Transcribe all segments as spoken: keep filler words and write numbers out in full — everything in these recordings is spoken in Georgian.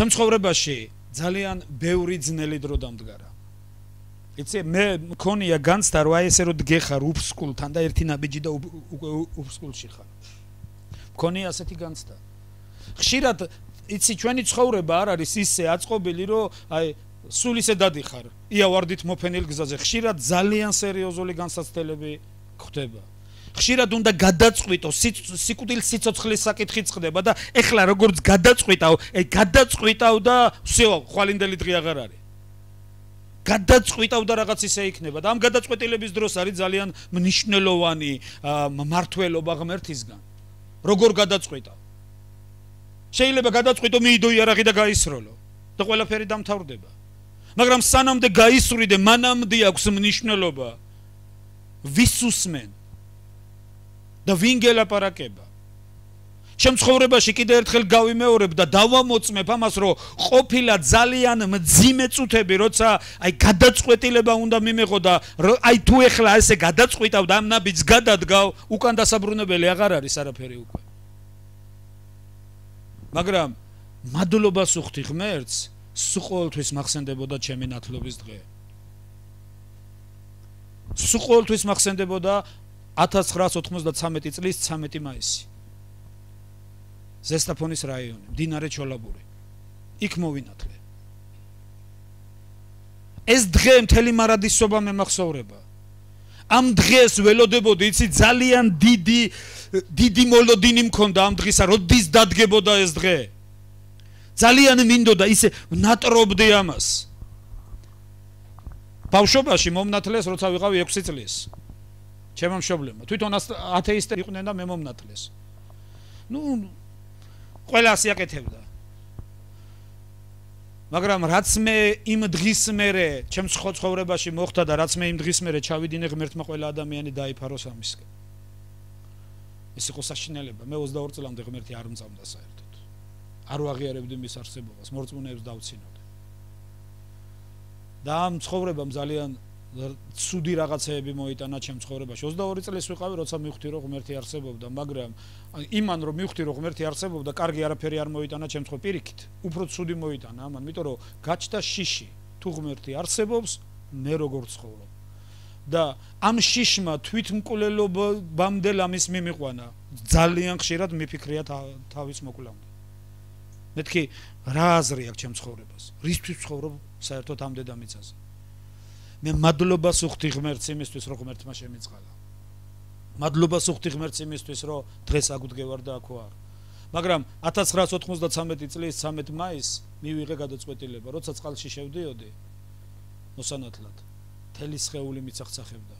ჩემ ცხოვრებაში ძალიან ბევრი ძნელი დრო დამდგარა. იცი მე მქონია განცდა რომ აი ესე რომ დგეხარ უფსკულთან და ერთი ნაბიჯი და უფსკულში ხარ. მქონია ასეთი განცდა. ხშირად იცი ჩვენი ცხოვრება არ არის ისე აწყობილი რომ აი სულ ისე დადიხარ იავარდით მოფენილ გზაზე. ხშირად ძალიან სერიოზული განსაცდელები ხდება. ხშირად უნდა გადაწყვიტო სიკვდილის სიცოცხლის საკითხიც ხდება და ეხლა როგორც გადაწყვიტავ, აი გადაწყვიტავ და всё, ხვალინდელი დღე აღარ არის. გადაწყვიტავ და რაღაც ისე იქნება და ამ გადაწყვეტილების დროს არის ძალიან მნიშვნელოვანი მმართველობა ღმერთისგან. როგორ გადაწყვიტავ? შეიძლება გადაწყვიტო მიიდო იარაღი და გაისროლო და ყველაფერი დამთავრდება. მაგრამ სანამდე გაისვრიდე, მანამდე აქვს მნიშვნელობა ვის უსმენ და ვინ გელაპარაკება. ჩემ ცხოვრებაში კიდევ ერთხელ გავიმეორებ და დავამოწმებ ამას, რომ ყოფილა ძალიან მძიმე წუთები, როცა აი გადაწყვეტილება უნდა მიმეღო და აი თუ ეხლა ესე გადაწყვიტავ და ამ ნაბიჯს გადადგავ, უკან დასაბრუნებელი აღარ არის არაფერი უკვე. მაგრამ მადლობას უხდი ღმერთს, სულ ყოველთვის მახსენდებოდა ჩემი ნათლობის დღე. სულ ყოველთვის მახსენდებოდა ათას ცხრაას ოთხმოცდათვრამეტი წლის ცამეტი მაისი. ზესტაფონის რაიონი, მდინარე ჩოლაბური. იქ მოვინათლე. ეს დღე მთელი მარადისობა მემახსოვრება. ამ დღეს ველოდებოდი, იცი, ძალიან დიდი დიდი მოლოდინი მქონდა ამ დღისა, როდის დადგებოდა ეს დღე. ძალიან მინდოდა ისე ნატრობდი ამას. ბავშვობაში მომნათლეს, როცა ვიყავი ექვსი წლის. ჩემო მშობლებმა თვითონ ათეისტები იყვნენ და მე მომნათლეს. ნუ ყველა ასე აკეთებდა. მაგრამ რაც მე იმ დღის მერე ჩემ ცხოვრებაში მოხდა და რაც მე იმ დღის მერე ჩავიდინე ღმერთმა ყველა ადამიანი დაიფაროს ამისკენ. ეს იყო საშინელება. მე ოცდაორ წლამდე ღმერთი არ მწამდა საერთოდ. არ ვაღიარებდი მის არსებობას, მორწმუნეებს დავცინოდი. და ამ ცხოვრებამ ძალიან ცუდი რაღაცეები მოიტანა ჩემ ცხოვრებაში. ოცდაორი წლის ვიყავი, როცა მივხვდი რომ ღმერთი არსებობდა, მაგრამ იმან რომ მივხვდი რომ ღმერთი არსებობდა, კარგი არაფერი არ მოიტანა ჩემ ცხოვრებაში. პირიქით, უფრო ცუდი მოიტანა ამან, იმიტომ რომ გაჩნდა შიში, თუ ღმერთი არსებობს, მე როგორ ცხოვრობ. და ამ შიშმა თვითმკვლელობამდე ლამის მიმიყვანა. ძალიან ხშირად მიფიქრია თავის მოკლამდე. მეთქი რა აზრი აქვს ჩემ ცხოვრებას? რისთვის ცხოვრობ საერთოდ ამ დედამიწაზე? მე მადლობას უხდი ღმერთს იმისთვის, რომ ღმერთმა შემიწყალა. მადლობას უხდი ღმერთს იმისთვის, რომ დღეს აგვდგევარ და აქ ვარ. მაგრამ ათას ცხრაას ოთხმოცდათვრამეტი წლის ცამეტი მაისს მივიღე გადაწყვეტილება, როცა წყალში შევდიოდი მოსანათლად. მთელი სხეული მიცახცახებდა.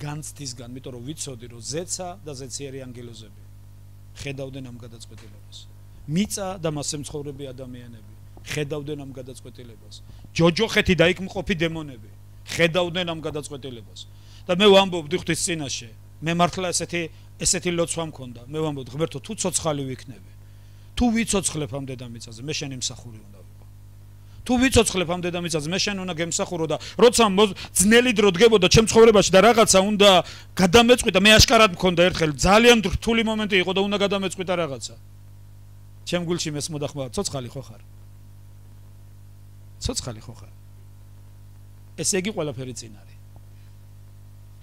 განცდისგან, იმიტომ რომ ვიცოდი, რომ ზეცა და ზეციერი ანგელოზები ხედავდნენ ამ გადაწყვეტილებას. მიწა და მასზე მცხოვრები ადამიანები ხედავდნენ ამ გადაწყვეტილებას. ჯოჯოხეთი და იქ მყოფი დემონები ხედავდნენ ამ გადაწყვეტილებას. და მე ვამბობდი ღვთის წინაშე, მე მართლა ესეთი ესეთი ლოცვა მქონდა. მე ვამბობდი, ღმერთო, თუ ცოცხალი ვიქნები, თუ ვიცოცხლებ ამ დედამიწაზე, მე შენი მსახური უნდა ვიყო. თუ ვიცოცხლებ ამ დედამიწაზე, მე შენ უნდა გემსახურო და როცა ძნელი დრო დგებოდა ჩემ ცხოვრებაში და რაღაცა უნდა გადამეწყვიტა, მე აშკარად მქონდა ერთხელ ძალიან რთული მომენტი იყო და უნდა გადამეწყვიტა რაღაცა. ჩემ გულში მეს მოდახმავა, ცოცხალი ხო ხარ? ცოცხალი ხო ხარ? ესე იგი ყველაფერი წინ არის.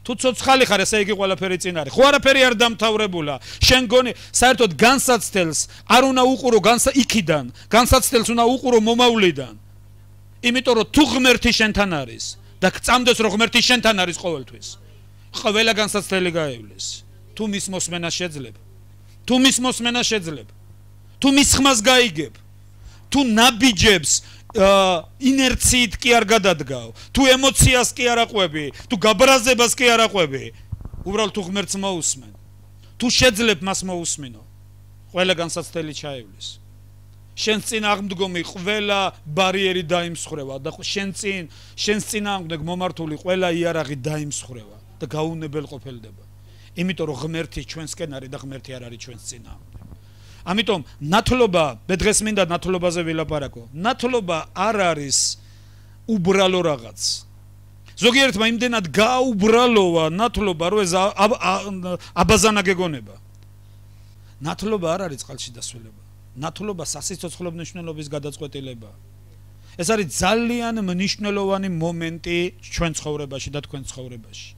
თუ ცოცხალი ხარ, ესე იგი ყველაფერი წინ არის. ხო არაფერი არ დამთავრებულა. შენ გონი საერთოდ განსაცდელს არ უნდა უყურო განსა იქიდან, განსაცდელს უნდა უყურო მომავლიდან. იმიტომ რომ თუ ღმერთი შენთან არის და გწამდეს რომ ღმერთი შენთან არის ყოველთვის, ყველა განსაცდელი გაევლეს. თუ მის მოსმენა შეძლებ, თუ მის მოსმენა შეძლებ, თუ მის ხმას გაიგებ, თუ ნაბიჯებს ინერციით კი არ გადადგავ, თუ ემოციას კი არ აყვები, თუ გაბრაზებას კი არ აყვები, უბრალოდ თუ ღმერთს მოусმენ, თუ შეძლებ მას მოусმინო, ყველა განსაცდელი ჩაევლის. შენ წინ აღმდგომი ყველა ბარიერი დაიმსხრევა და შენ წინ შენ წინააღმდეგ მომართული ყველა იარაღი დაიმსხრევა და გაუნებელ ყოფილდება. იმიტომ რომ ღმერთი ჩვენსკენ არის და ღმერთი არ არის ჩვენს წინააღმდეგ. ამიტომ ნათლობა, მე დღეს მინდა ნათლობაზე ვილაპარაკო. ნათლობა არ არის უბრალო რაღაც. ზოგიერთმა იმდენად გაუბრალოა ნათლობა, რომ ეს აბაზანა გეგონება. ნათლობა არ არის წყალში დასვლება. ნათლობა სასიცოცხლო მნიშვნელობის გადაწყვეტილებაა. ეს არის ძალიან მნიშვნელოვანი მომენტი ჩვენ ცხოვრებაში და თქვენ ცხოვრებაში.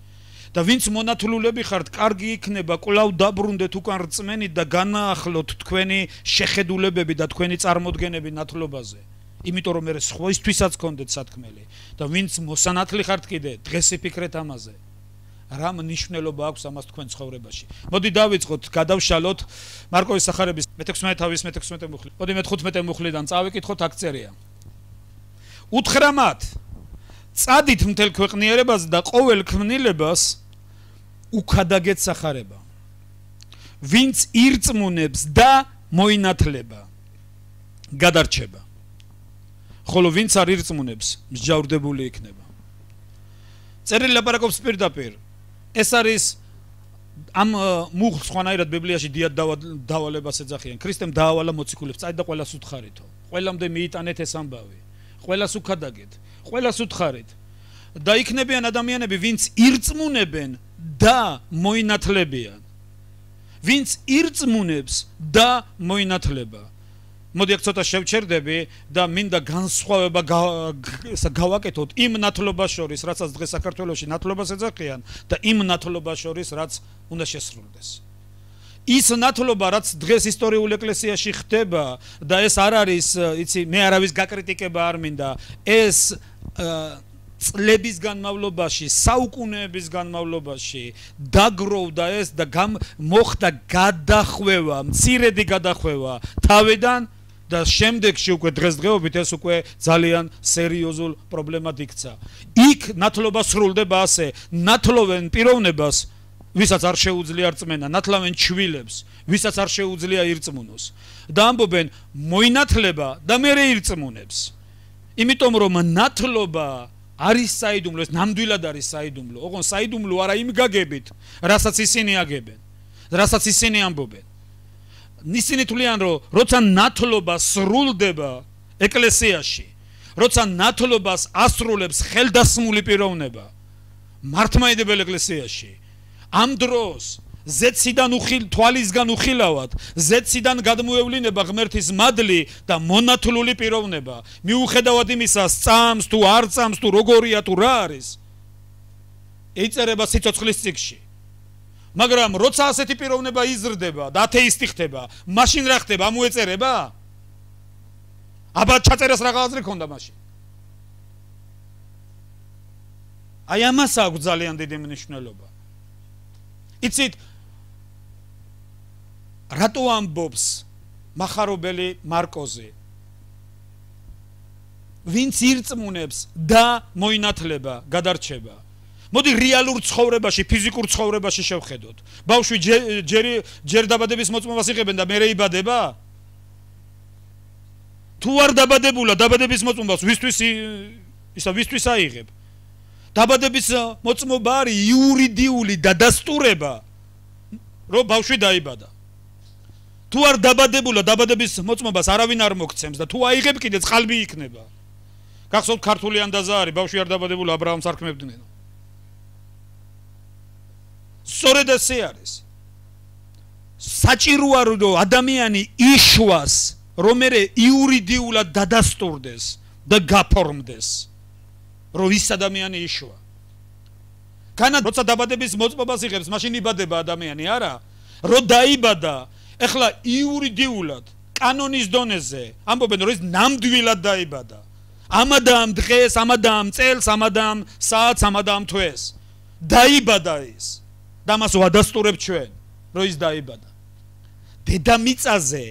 და ვინც მონათლულები ხართ, კარგი იქნება კვლავ დაბრუნდეთ უკან რწმენით და განაახლოთ თქვენი შეხედულებები და თქვენი წარმოდგენები ნათლობაზე. იმიტომ რომ მე სხვისთვისაც გქონდეთ სათქმელი და ვინც მოსანათლი ხართ კიდე, დღეს იფიქრეთ ამაზე. რა მნიშვნელობა აქვს ამას თქვენ ცხოვრებაში. მოდი დავიწყოთ, გადავშალოთ მარკოვის სახარების მეთექვსმეტეავის მეთექვსმეტე მუხლი. მოდი მეთხუთმეტე მუხლიდან წავიკითხოთ, აქ წერია. უთხრა მათ, წადით მთელ ქვეყნიერებაზე და ყოველ ქმნილებას უქადაგეთ სახარება. ვინც ირწმუნებს და მოინათლება, გადარჩება. ხოლო ვინც არ ირწმუნებს, მსჯავრდებული იქნება. წერილი ლაპარაკობს პირდაპირ. ეს არის ამ მუხლს ხვანაირად ბიბლიაში დიად დავალებას ეძახიან. ქრისტემ დაავალა მოციქულებს, წაით და ყველას უთხარითო. ყველამდე მიიტანეთ ეს ამბავი. ყველას უქადაგეთ, ყველას უთხარით. და იქნებიან ადამიანები, ვინც ირწმუნებენ და მოინათლებიან. ვინც ირწმუნებს და მოინათლება. მოდი აქ ცოტა შევჩერდები და მინდა განსხვავება გავაკეთოთ იმ ნათლობას შორის, რაცაც დღეს საქართველოში ნათლობას ეძახიან და იმ ნათლობას შორის, რაც უნდა შესრულდეს. ის ნათლობა, რაც დღეს ისტორიულ ეკლესიაში ხდება და ეს არ არის, იცი, მე არავის გაკრიტიკება არ მინდა, ეს წლების განმავლობაში, საუკუნეების განმავლობაში დაგროვდა ეს და მოხდა გადახვევა, მცირედი გადახვევა თავიდან და შემდეგში უკვე დღესდღეობით ეს უკვე ძალიან სერიოზულ პრობლემად იქცა. იქ ნათლობა სრულდება ასე, ნათლოვენ პიროვნებას, ვისაც არ შეუძლია რწმენა, ნათლავენ ჩვილებს, ვისაც არ შეუძლია ირწმუნოს. და ამბობენ, მოინათლება და მერე ირწმუნებს. იმიტომ რომ ნათლობა არის საიდუმლო, ეს ნამდვილად არის საიდუმლო. ოღონდ საიდუმლო არა იმ გაგებით, რასაც ისინი აგებენ, რასაც ისინი ამბობენ. ისინი თვლიან, რომ როცა ნათლობა სრულდება ეკლესიაში, როცა ნათლობას ასრულებს ხელდასმული პიროვნება მართლმადიდებელ ეკლესიაში, ამ დროს ზეციდან უხილ თვალისგან უხილავად, ზეციდან გადმოევლინება ღმერთის მადლი და მონათლული პიროვნება. მიუხედავად იმისა, სწამს თუ არ სწამს თუ როგორია თუ რა არის, ეწერება სიცოცხლის წიგნში. მაგრამ როცა ასეთი პიროვნება იზრდება და ათეისტი ხდება, მაშინ რა ხდება? ამოეწერება? აბა ჩაწერას რა გააზრი ქონდა მაშინ? აი ამას აქვს ძალიან დიდი მნიშვნელობა. იცით, რატო ამბობს მახარობელი მარკოზი? ვინც ირწმუნებს და მოინათლება, გადარჩება. მოდი რეალურ ცხოვრებაში, ფიზიკურ ცხოვრებაში შევხედოთ. ბავშვი ჯერ დაბადების მოწმობას იღებენ და მერე იბადება? თუ არ დაბადებულა დაბადების მოწმობას, ვისთვის ისა ვისთვის აიღებ? დაბადების მოწმობა არის იურიდიული დადასტურება, რომ ბავშვი დაიბადა. თუ არ დაბადებულა დაბადების მოწმობას არავინ არ მოგცემს და თუ აიღებ კიდე წყალბი იქნება. გახსოვთ ქართული ანდაზა არის, ბავშვი არ დაბადებულა აბრაამს არ ქმებდნენ. სწორედ ესე არის. საჭიროა რომ ადამიანი იშვას, რომ მერე იურიდიულად დადასტურდეს და გაფორმდეს, რომ ის ადამიანი იშვა. განა როცა დაბადების მოწმობას იღებს, მაშინ იბადება ადამიანი, არა? რომ დაიბადა, ეხლა იურიდიულად, კანონის დონეზე, ამბობენ, რომ ის ნამდვილად დაიბადა. ამადა ამ დღეს, ამადა ამ წელს, ამადა ამ საათს, ამადა ამ თვეს. დაიბადა ის. და მას ვადასტურებ ჩვენ, რომ ის დაიბადა. დედამიწაზე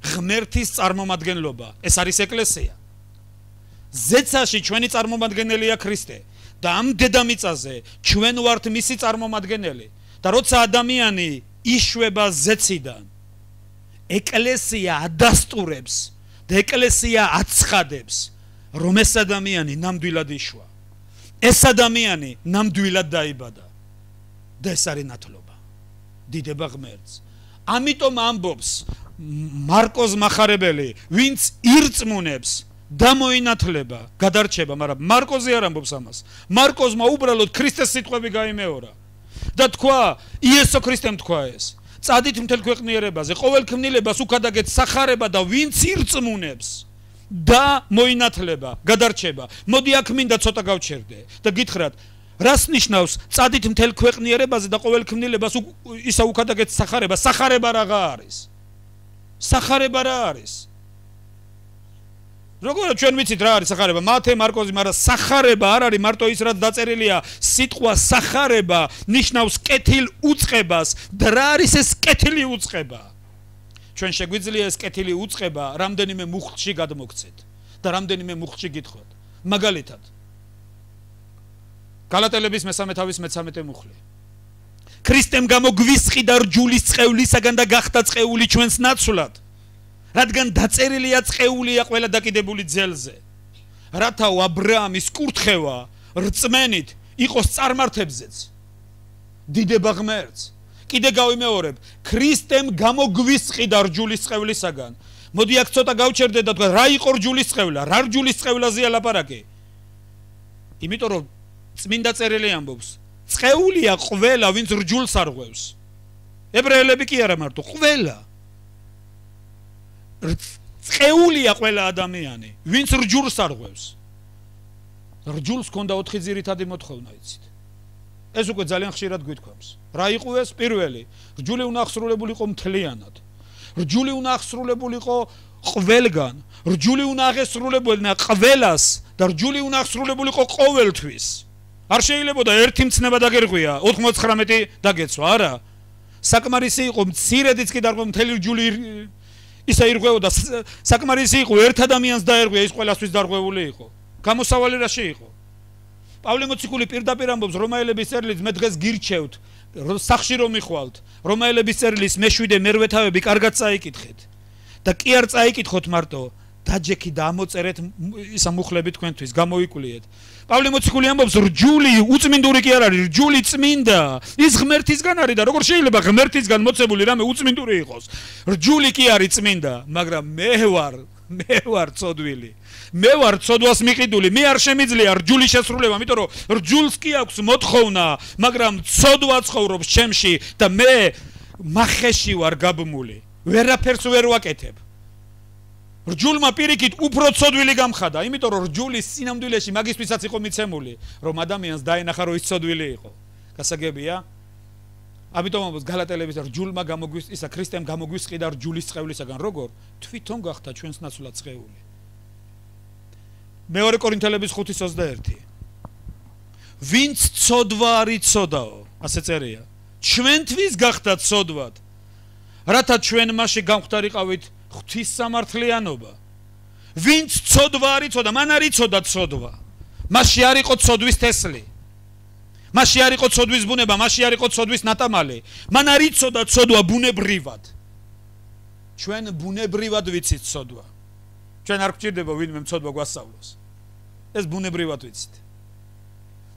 ღმერთის წარმომადგენლობა, ეს არის ეკლესია. ზეცაში ჩვენი წარმომადგენელია ქრისტე და ამ დედამიწაზე ჩვენ ვართ მისი წარმომადგენელი. და როცა ადამიანი იშვება ზეციდან, ეკლესია ადასტურებს და ეკლესია აცხადებს, რომ ეს ადამიანი ნამდვილად იშვა. ეს ადამიანი ნამდვილად დაიბადა. და ეს არის ნათლობა. დიდება ღმერთს. ამიტომ ამბობს მარკოზ მახარებელი, ვინც ირწმუნებს და მოინათლება, გადარჩება, მაგრამ მარკოზი არ ამბობს ამას. მარკოზმა უბრალოდ ქრისტეს სიტყვები გაიმეორა და თქვა, იესო ქრისტემ თქვა ეს. წადით მთელ ქვეყნიერებაზე, ყოველ ქმნილებას უქადაგეთ სახარება და ვინც ირწმუნებს და მოინათლება, გადარჩება. მოდი აქ მინდა ცოტა გავჩერდე და გითხრათ, რას ნიშნავს წადით მთელ ქვეყნიერებაზე და ყოველ ქმნილებას ისა უქადაგეთ სახარება? სახარება რაღა არის? სახარება რა არის? როგორ ჩვენ ვიცით რა არის სახარება? მათე, მარკოზი, მაგრამ სახარება არ არის მარტო ის რაც დაწერილია. სიტყვა სახარება ნიშნავს კეთილ უწყებას და რა არის ეს კეთილი უწყება? ჩვენ შეგვიძლია ეს კეთილი უწყება რამდენიმე მუხტში გადმოგცეთ და რამდენიმე მუხტში გითხოვთ. მაგალითად გალატელების მესამე თავის მეცამეტე მუხლი. ქრისტემ გამოგვისყიდა რჯულის წყევლისაგან და გახდა წყეული ჩვენს ნაცვლად. რადგან დაწერილია წყეულია ყველა დაკიდებული ძელზე. რათა აბრაამის კურთხევა რწმენით იყოს წარმართებზეც. დიდება ღმერთს. კიდე გავიმეორებ, ქრისტემ გამოგვისყიდა რჯულის წყევლისაგან. მოდი აქ ცოტა გავჩერდე და თქვა, რა იყო რჯულის წყევლა? რა რჯულის წყევლაზეა ლაპარაკი? იმიტომ რომ წმინდა წერილი ამბობს, წყეულია ყველა, ვინც რჯულს არღვევს. ებრაელები კი არა მარტო, ყველა. წყეულია ყველა ადამიანი, ვინც რჯულს არღვევს. რჯულს ჰქონდა ოთხი ძირითადი მოთხოვნა, იცით. ეს უკვე ძალიან ხშირად გვითქვამს. რა იყო ეს? პირველი, რჯული უნდა აღსრულებულიყო მთლიანად. რჯული უნდა აღსრულებულიყო ყველგან. რჯული უნდა აღესრულებოდნენ ყველას და რჯული უნდა აღსრულებულიყო ყოველთვის. არ შეიძლებოდა ერთი მცნება დაგერღვია, ოთხმოცდათხმეტი დაგეცვა, არა. საკმარისი იყო მცირედიც კი დარღვევა მთელი რჯული ისა ირღვეოდა, საკმარისი იყო ერთ ადამიანს დაერღვია, ის ყველასთვის დარღვეული იყო. გამოსავალი რაში იყო? პავლე მოციქული პირდაპირ ამბობს რომაელების წერილით, მე დღეს გირჩევთ, სახში რომ მიხვალთ, რომაელების წერილის მეშვიდე მერვე თავები კარგად წაიკითხეთ. და კი არ წაიკითხოთ მარტო, დაჯექი და ამოწერეთ ისა მუხლები თქვენთვის, გამოიკულიეთ. პავლე მოციქული ამბობს, რჯული უწმინდური კი არ არის, რჯული წმინდა. ის ღმერთისგან არის და როგორ შეიძლება ღმერთისგან მოცებული რამე უწმინდური იყოს? რჯული კი არის წმინდა, მაგრამ მე ვარ, მე ვარ ცოდვილი. მე ვარ ცოდვას მიყიდული, მე არ შემიძლია რჯული შესრულება, იმიტომ რომ რჯულს კი აქვს მოთხოვნა, მაგრამ ცოდვა ცხოვრობს ჩემში და მე მახეში ვარ გაბმული. ვერაფერს ვერ ვაკეთებ. რჯულმა პირიქით უფრო ცოდვილი გამხადა, იმიტომ რომ რჯულის სინამდვილეში მაგისთვისაც იყო მიცემული, რომ ადამიანს დაენახა რომ ის ცოდვილი იყო. გასაგებია? ამიტომ ამბობს გალატელების რჯულმა გამოგვის ისა ქრისტემ გამოგვისყიდა რჯულის წყევლისაგან, როგორ? თვითონ გახდა ჩვენს ნაცვლად წყეული. მეორე კორინთელების ხუთის ოცდაერთი. ვინც ცოდვა არ იცოდაო, ასე წერია. ჩვენთვის გახდა ცოდვად, რათა ჩვენ მასში გამختარიყავით ღვთის სამართლიანობა. ვინც ცოდვა არ იცოდა, მან არ იცოდა ცოდვა. მასში არ იყო ცოდვის თესლი. მასში არ იყო ცოდვის ბუნება, მასში არ იყო ცოდვის ნატამალი. მან არ იცოდა ცოდვა ბუნებრივად. ჩვენ ბუნებრივად ვიცით ცოდვა. ჩვენ არ გვჭირდება ვინმე ცოდვა გვასწავლოს. ეს ბუნებრივად ვიცით.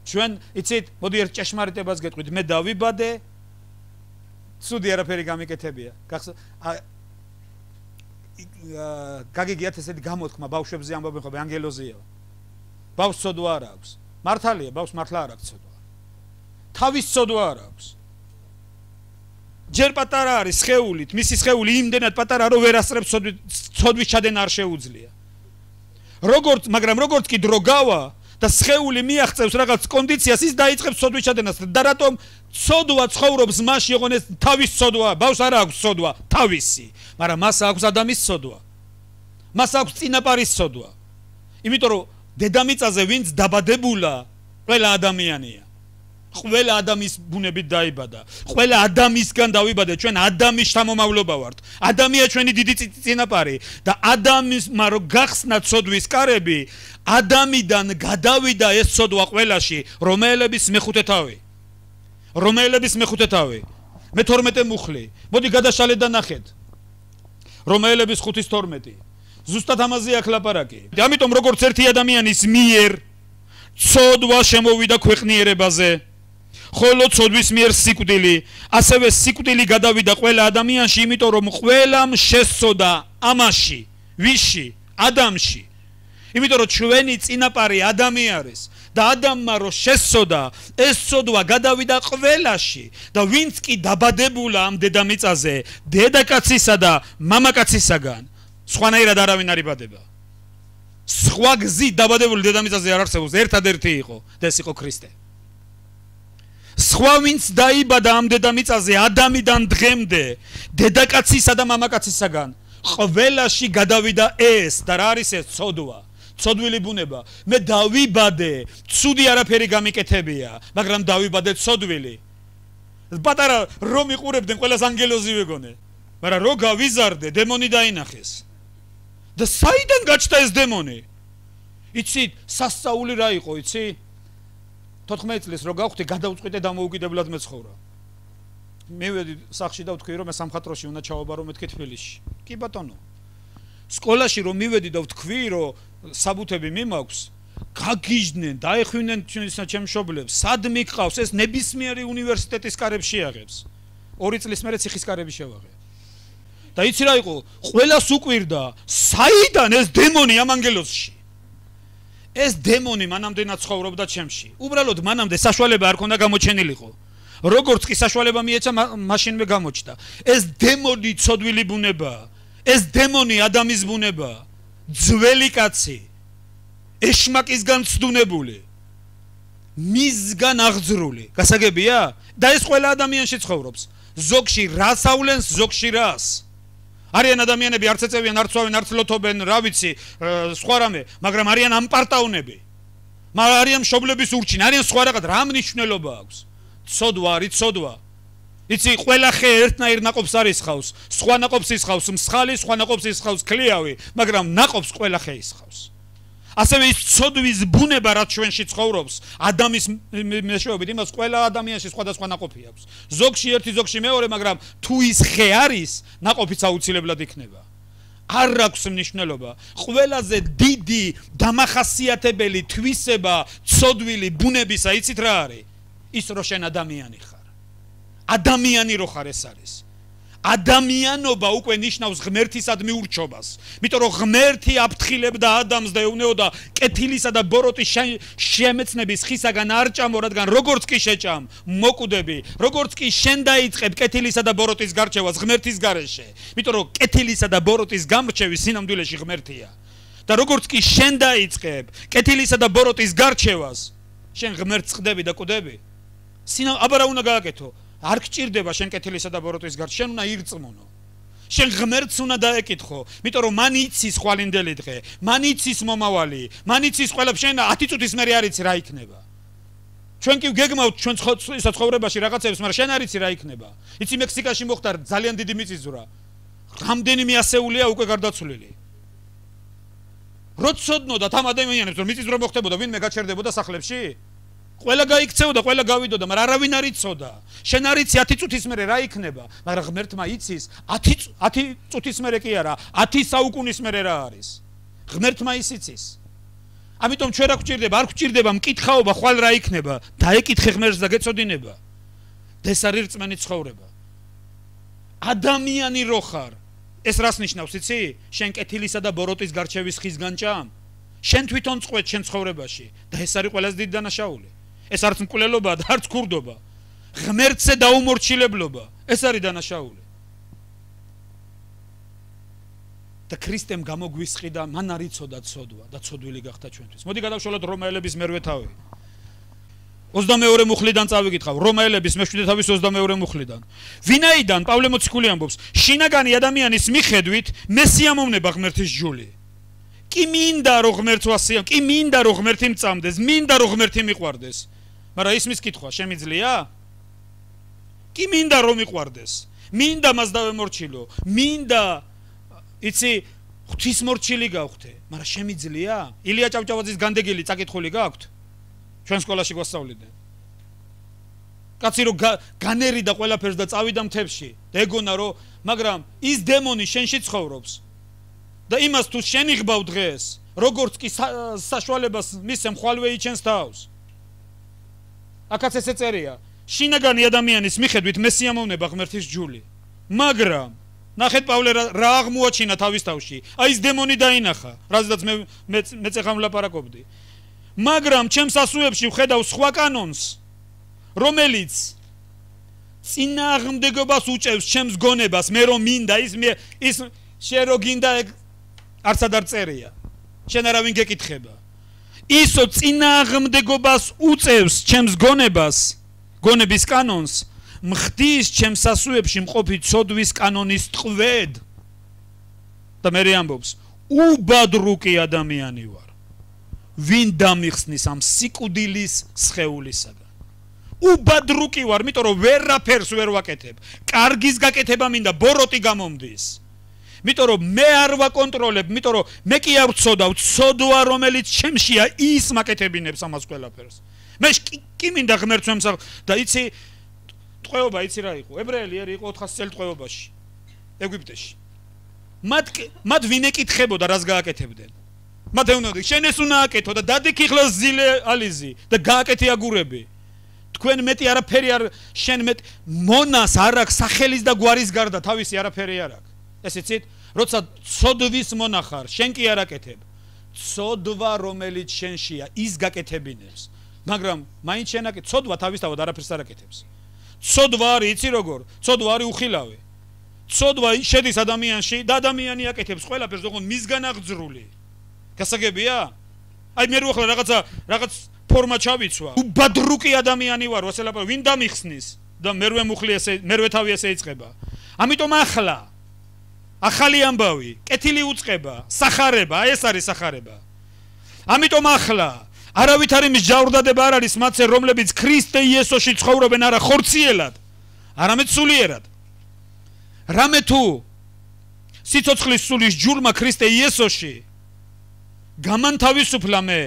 ჩვენ იცით, მოდი ერთ ჭეშმარიტებას გეტყვით, მე დავიბადე, ცუდი არაფერი გამიკეთებია. გაგიგიათ ესეთი გამოთქმა ბავშვებზე ამბობენ ხოლმე ანგელოზია. ბავშვს ცოდვა არ აქვს. მართალია, ბავშვს მართლა არ აქვს ცოდვა. თავის ცოდვა არ აქვს. ჯერ პატარა არის სხეულით, მისი სხეული იმდენად პატარა, რომ ვერ ასწრებს ცოდვის ჩადენა არ შეუძლია. როგორც, მაგრამ როგორც კი დრო გავა და სხეული მიაღწევს რაღაც კონდიციას, ის დაიწყებს ცოდვის ჩადენას და რატომ ცოდვა ცხოვრობს მასში, ოღონდ ეს თავის ცოდვა, ბავშვს არ აქვს ცოდვა, თავისი, მაგრამ მას აქვს ადამის ცოდვა. მას აქვს წინაპარის ცოდვა. იმიტომ რომ დედამიწაზე ვინც დაბადებულა, ყველა ადამიანია. ყველა ადამიანის ბუნებით დაიბადა. ყველა ადამიანისგან დავიბადეთ, ჩვენ ადამიანის შთამომავლობა ვართ. ადამიანია ჩვენი დიდი წინაპარი და ადამიანმა რო გახსნა ცოდვის კარები, ადამიანიდან გადავიდა ეს ცოდვა ყველაში, რომაელების მეხუთე თავი. რომაელების მეხუთე თავი. მეთორმეტე მუხლი. მოდი გადაშალეთ და ნახეთ. რომაელების ხუთის თორმეტი. ზუსტად ამაზე აქ ლაპარაკი. ამიტომ როგორც ერთი ადამიანის მიერ ცოდვა შემოვიდა ქვეყნიერებაზე, ხოლო ცოდვის მიერ სიკვდილი, ასევე სიკვდილი გადავიდა ყველა ადამიანში, იმიტომ რომ ყველამ შესწოდა ამაში, ვისში, ადამიანში, იმიტომ რომ ჩვენი წინაპარი ადამი არის და ადამმა რო შესწოდა, ეს წოდვა გადავიდა ყველაში და ვინც კი დაბადებულა ამ დედამიწაზე, დედაკაცისა და მამაკაცისაგან, სხვანაირად არავინ არ იბადება. სხვა გზით დაბადებული დედამიწაზე არ არსებობს, ერთადერთი იყო და ეს იყო ქრისტე. სხვა ვინც დაიბადა ამ დედამიწაზე ადამიდან დღემდე, დედაკაცისა და მამაკაცისაგან, ყველაში გადავიდა ეს და რა არის ეს წოდვა? ცოდვილი ბუნება. მე დავიბადე, ცუდი არაფერი გამიკეთებია, მაგრამ დავიბადე ცოდვილი. პატარა რომ იყურებდნენ ყველას ანგელოზი ვეგონე, მაგრამ რო გავიზარდე, დემონი დაინახეს. და საიდან გაჩნდა ეს დემონი? იცით, სასწაული რა იყო, იცი? თოთხმეტ წლის რო გავხდი, გადავწყვიტე დამოუკიდებლად მეცხოვრა. მივედი სახში და ვთქვი რომ მე სამხატვროში უნდა ჩავაბარო მეთქე თბილისში. კი ბატონო. სკოლაში რომ მივედი და ვთქვი რომ საბუთები მიმაქვს, გაგიჟდნენ, დაეხვინენ ჩემს მშობლებს, სად მიყავს, ეს ნებისმიერი უნივერსიტეტის კარებში აღებს. ორი წლის მერე ციხის კარები შევაღე. და იცი რა იყო, ყველას უკვირდა, საიდან ეს დემონი ამ ანგელოზში? ეს დემონი მანამდენად ცხოვრობდა ჩემში. უბრალოდ მანამდე საშუალება არ ქონდა გამოჩენილიყო. როგორც კი საშუალება მიეცა, მაშინვე გამოჩნდა. ეს დემონი ცოდვილი ბუნებაა. ეს დემონი ადამის ბუნებაა. ძველი კაცი, ეშმაკისგან ცდუნებული, მისგან აღძრული. გასაგებია? და ეს ყველა ადამიანში ცხოვრობს. ზოგში რას ავლენს, ზოგში რას. არიან ადამიანები არც ეწევიან, არც ვავენ, არც ლოთობენ, რა ვიცი, სხვა რამე, მაგრამ არიან ამპარტაუნები. არიან მშობლების ურჩინ, არიან სხვა რაღაც, რა მნიშვნელობა აქვს? ცოდვა არის ცოდვა. იცი, ყველა ხე ერთნაირ ნაყოფს არ ისხავს, სხვა ნაყოფს ისხავს მსხალი, სხვა ნაყოფს ისხავს ქლიავი, მაგრამ ნაყოფს ყველა ხე ისხავს. ასევე ის ცოდვის ბუნება რაც ჩვენში ცხოვრობს, ადამიანის მეშვეობით, იმას ყველა ადამიანში სხვადასხვა ნაყოფი აქვს. ზოგში ერთი, ზოგში მეორე, მაგრამ თუ ის ხე არის, ნაყოფიც აუცილებლად იქნება. არ აქვს მნიშვნელობა. ყველაზე დიდი დამახასიათებელი თვისება ცოდვილი ბუნებისა, იცით რა არის? ის რო შენ ადამიანი ხარ. ადამიანი რო ხარ ეს არის. ადამიანობა უკვე ნიშნავს ღმერთისადმი ურჩობას. იმიტომ რომ ღმერთი აფრთხილებდა ადამიანს და ეუბნეოდა კეთილისა და ბოროტის შემეცნების ხისაგან არ ჭამო, რადგან როგორც კი შეჭამ, მოკვდები, როგორც კი შენ დაიწყებ კეთილისა და ბოროტის გარჩევას ღმერთის გარეშე. იმიტომ რომ კეთილისა და ბოროტის გამრჩევი სინამდვილეში ღმერთია. და როგორც კი შენ დაიწყებ კეთილისა და ბოროტის გარჩევას, შენ ღმერთს ხდები და კვდები. სინა აბარა უნდა გააკეთო. არ გჭირდება შენ კეთილისა და ბოროტის გარშე, შენ უნდა ირწმუნო. შენ ღმერთს უნდა დაეკითხო, იმიტომ რომ მან იცის ხვალინდელი დღე, მან იცის მომავალი, მან იცის ყველაფერი, შენ ათი წუთის მერე არ იცი რა იქნება. ჩვენ კი გეგმავთ ჩვენ ცხოვრებაში რაღაცებს, მაგრამ შენ არ იცი რა იქნება. იცი მექსიკაში მოხდა ძალიან დიდი მიწისძვრა. რამდენიმე ასეულია უკვე გარდაცვლილი. როცოდნოდა თამ ადამიანებს რომ მიწისძვრა მოხდებოდა, ვინმე გაჩერდებოდა სახლებში? ყველა გაიქცეოდა, ყველა გავიდოდა, მაგრამ არავინ არ იცოდა. შენ არ იცი ათი წუთის მერე რა იქნება, მაგრამ ღმერთმა იცის ათი წუთის მერე კი არა, ათი საუკუნის მერე რა არის. ღმერთმა ის იცის. ამიტომ ჩვენ რა გვჭირდება? არ გვჭირდება მკითხაობა, ხვალ რა იქნება, დაეკითხე ღმერთს და გეწოდინება. და ეს არის რწმენი ცხოვრება. ადამიანი რო ხარ, ეს რას ნიშნავს, იცი? შენ კეთილისა და ბოროტის გარჩევის ხისგან ჭამ. შენ თვითონ წყვეთ შენ ცხოვრებაში და ეს არის ყველაზე დიდი დანაშაული. ეს არც მკვლელობა და არც ქურდობა. ღმერთზე დაუმორჩილებლობა. ეს არის დანაშაული. და ქრისტემ გამოგვისყიდა, მან არ იცოდა ცოდვა და ცოდვილი გახდა ჩვენთვის. მოდი გადავშალოთ რომაელების მერვე თავი. ოცდამეორე მუხლიდან წავიკითხავ. რომაელების მეშვიდე თავის ოცდამეორე მუხლიდან. ვინაიდან პავლე მოციქული ამბობს, შინაგანი ადამიანის მიხედვით მესიამოვნება ღმერთის ჯული. კი მინდა რომ ღმერთს ვასიამ, კი მინდა რომ ღმერთი მწამდეს, მინდა რომ ღმერთი მიყვარდეს. მაგრამ ისმის კითხვა შემიძლია? კი მინდა რომ მიყვარდეს. მინდა მას დავემორჩილო. მინდა იცი ღვთისმორჩილი გავხდე, მაგრამ შემიძლია? ილია ჭავჭავაძის განდეგილი წაკითხული გაქვთ? ჩვენ სკოლაში გვასწავლიდნენ. კაცი რომ განერიდა ყველაფერს და წავიდა მთებში და ეგონა რომ, მაგრამ ის დემონი შენში ცხოვრობს. და იმას თუ შენ იღბავ დღეს, როგორც კი საშუალებას მისცემ ხვალვე იჩენს თავს. აქაც ესე წერია, შინაგანი ადამიანის მიხედვით მესიამოვნება ღმერთის ჯული. მაგრამ, ნახეთ პავლე რა აღმოაჩინა თავის თავში. აი ეს დემონი დაინახა, რაზედაც მე მე წეხა ვლაპარაკობდი. მაგრამ ჩემს ასუებში ვხედავ სხვა კანონს, რომელიც წინააღმდეგობას უწევს ჩემს გონებას, მე რომ მინდა ის მე ის შენ რო გინდა არცად არ წერია. შენ არავინ გეკითხება. ისო წინააღმდეგობას უწევს ჩემს გონებას, გონების კანონს, მხდის ჩემს ასუებში მყოფი ცოდვის კანონის ტყვედ. და მე ამბობს, უბადრუკი ადამიანი ვარ. ვინ დამიხსნის ამ სიკვდილის სხეულისაგან. უბადრუკი ვარ, იმიტომ რომ ვერაფერს ვერ ვაკეთებ. კარგის გაკეთება მინდა, ბოროტი გამომდის. იმიტომ რომ მე არ ვაკონტროლებ, იმიტომ რომ მე კი არ ვწოდავ, ცოდვა რომელიც ჩემშია ის მაკეთებინებს ამას ყველაფერს. მე კი მინდა ღმერთს ვემსახ და იცი ტყვეობა იცი რა იყო? ებრაელი ერი იყო ოთხასი წელი ტყვეობაში. ეგვიპტეში. მათ მათ ვინ ეკითხებოდა რას გააკეთებდნენ? მათ ეუბნებოდნენ, შენ ეს უნდა აკეთო და დადიქიხლა ზილე ალიზი და გააკეთე აგურები. თქვენ მეტი არაფერი არ შენ მეტ მონას არ აქვს სახელის და გვარის გარდა თავისი არაფერი არ აქვს. ეს იცით, როცა ცოდვის მონახარ, შენ კი არ აკეთებ. ცოდვა რომელიც შენშია, ის გაკეთებინებს. მაგრამ მაინც შენ აკეთებ, ცოდვა თავისთავად არაფერს არ აკეთებს. ცოდვა არის, იცი როგორ? ცოდვა არის უხილავი. ცოდვა შედის ადამიანში და ადამიანი აკეთებს ყველაფერს, ოღონდ მისგან აღძრული. გასაგებია? აი მე რო ახლა რაღაცა რაღაც ფორმა ჩავიცვა. უბადრუკი ადამიანი ვარ, ვასელაპარ, ვინ დამიხსნის? და მერვე მუხლი ესე, მერვე თავი ესე იწყება. ამიტომ ახლა ახალი ამბავი, კეთილი უწყება, სახარება, აი ეს არის სახარება. ამიტომ ახლა არავითარი მსჯავრდადება არ არის მათზე, რომლებიც ქრისტე იესოში ცხოვრობენ არა ხორციელად, არამედ სულიერად. რამე თუ სიცოცხლის სულის ჯულმა ქრისტე იესოში გამანთავისუფლა მე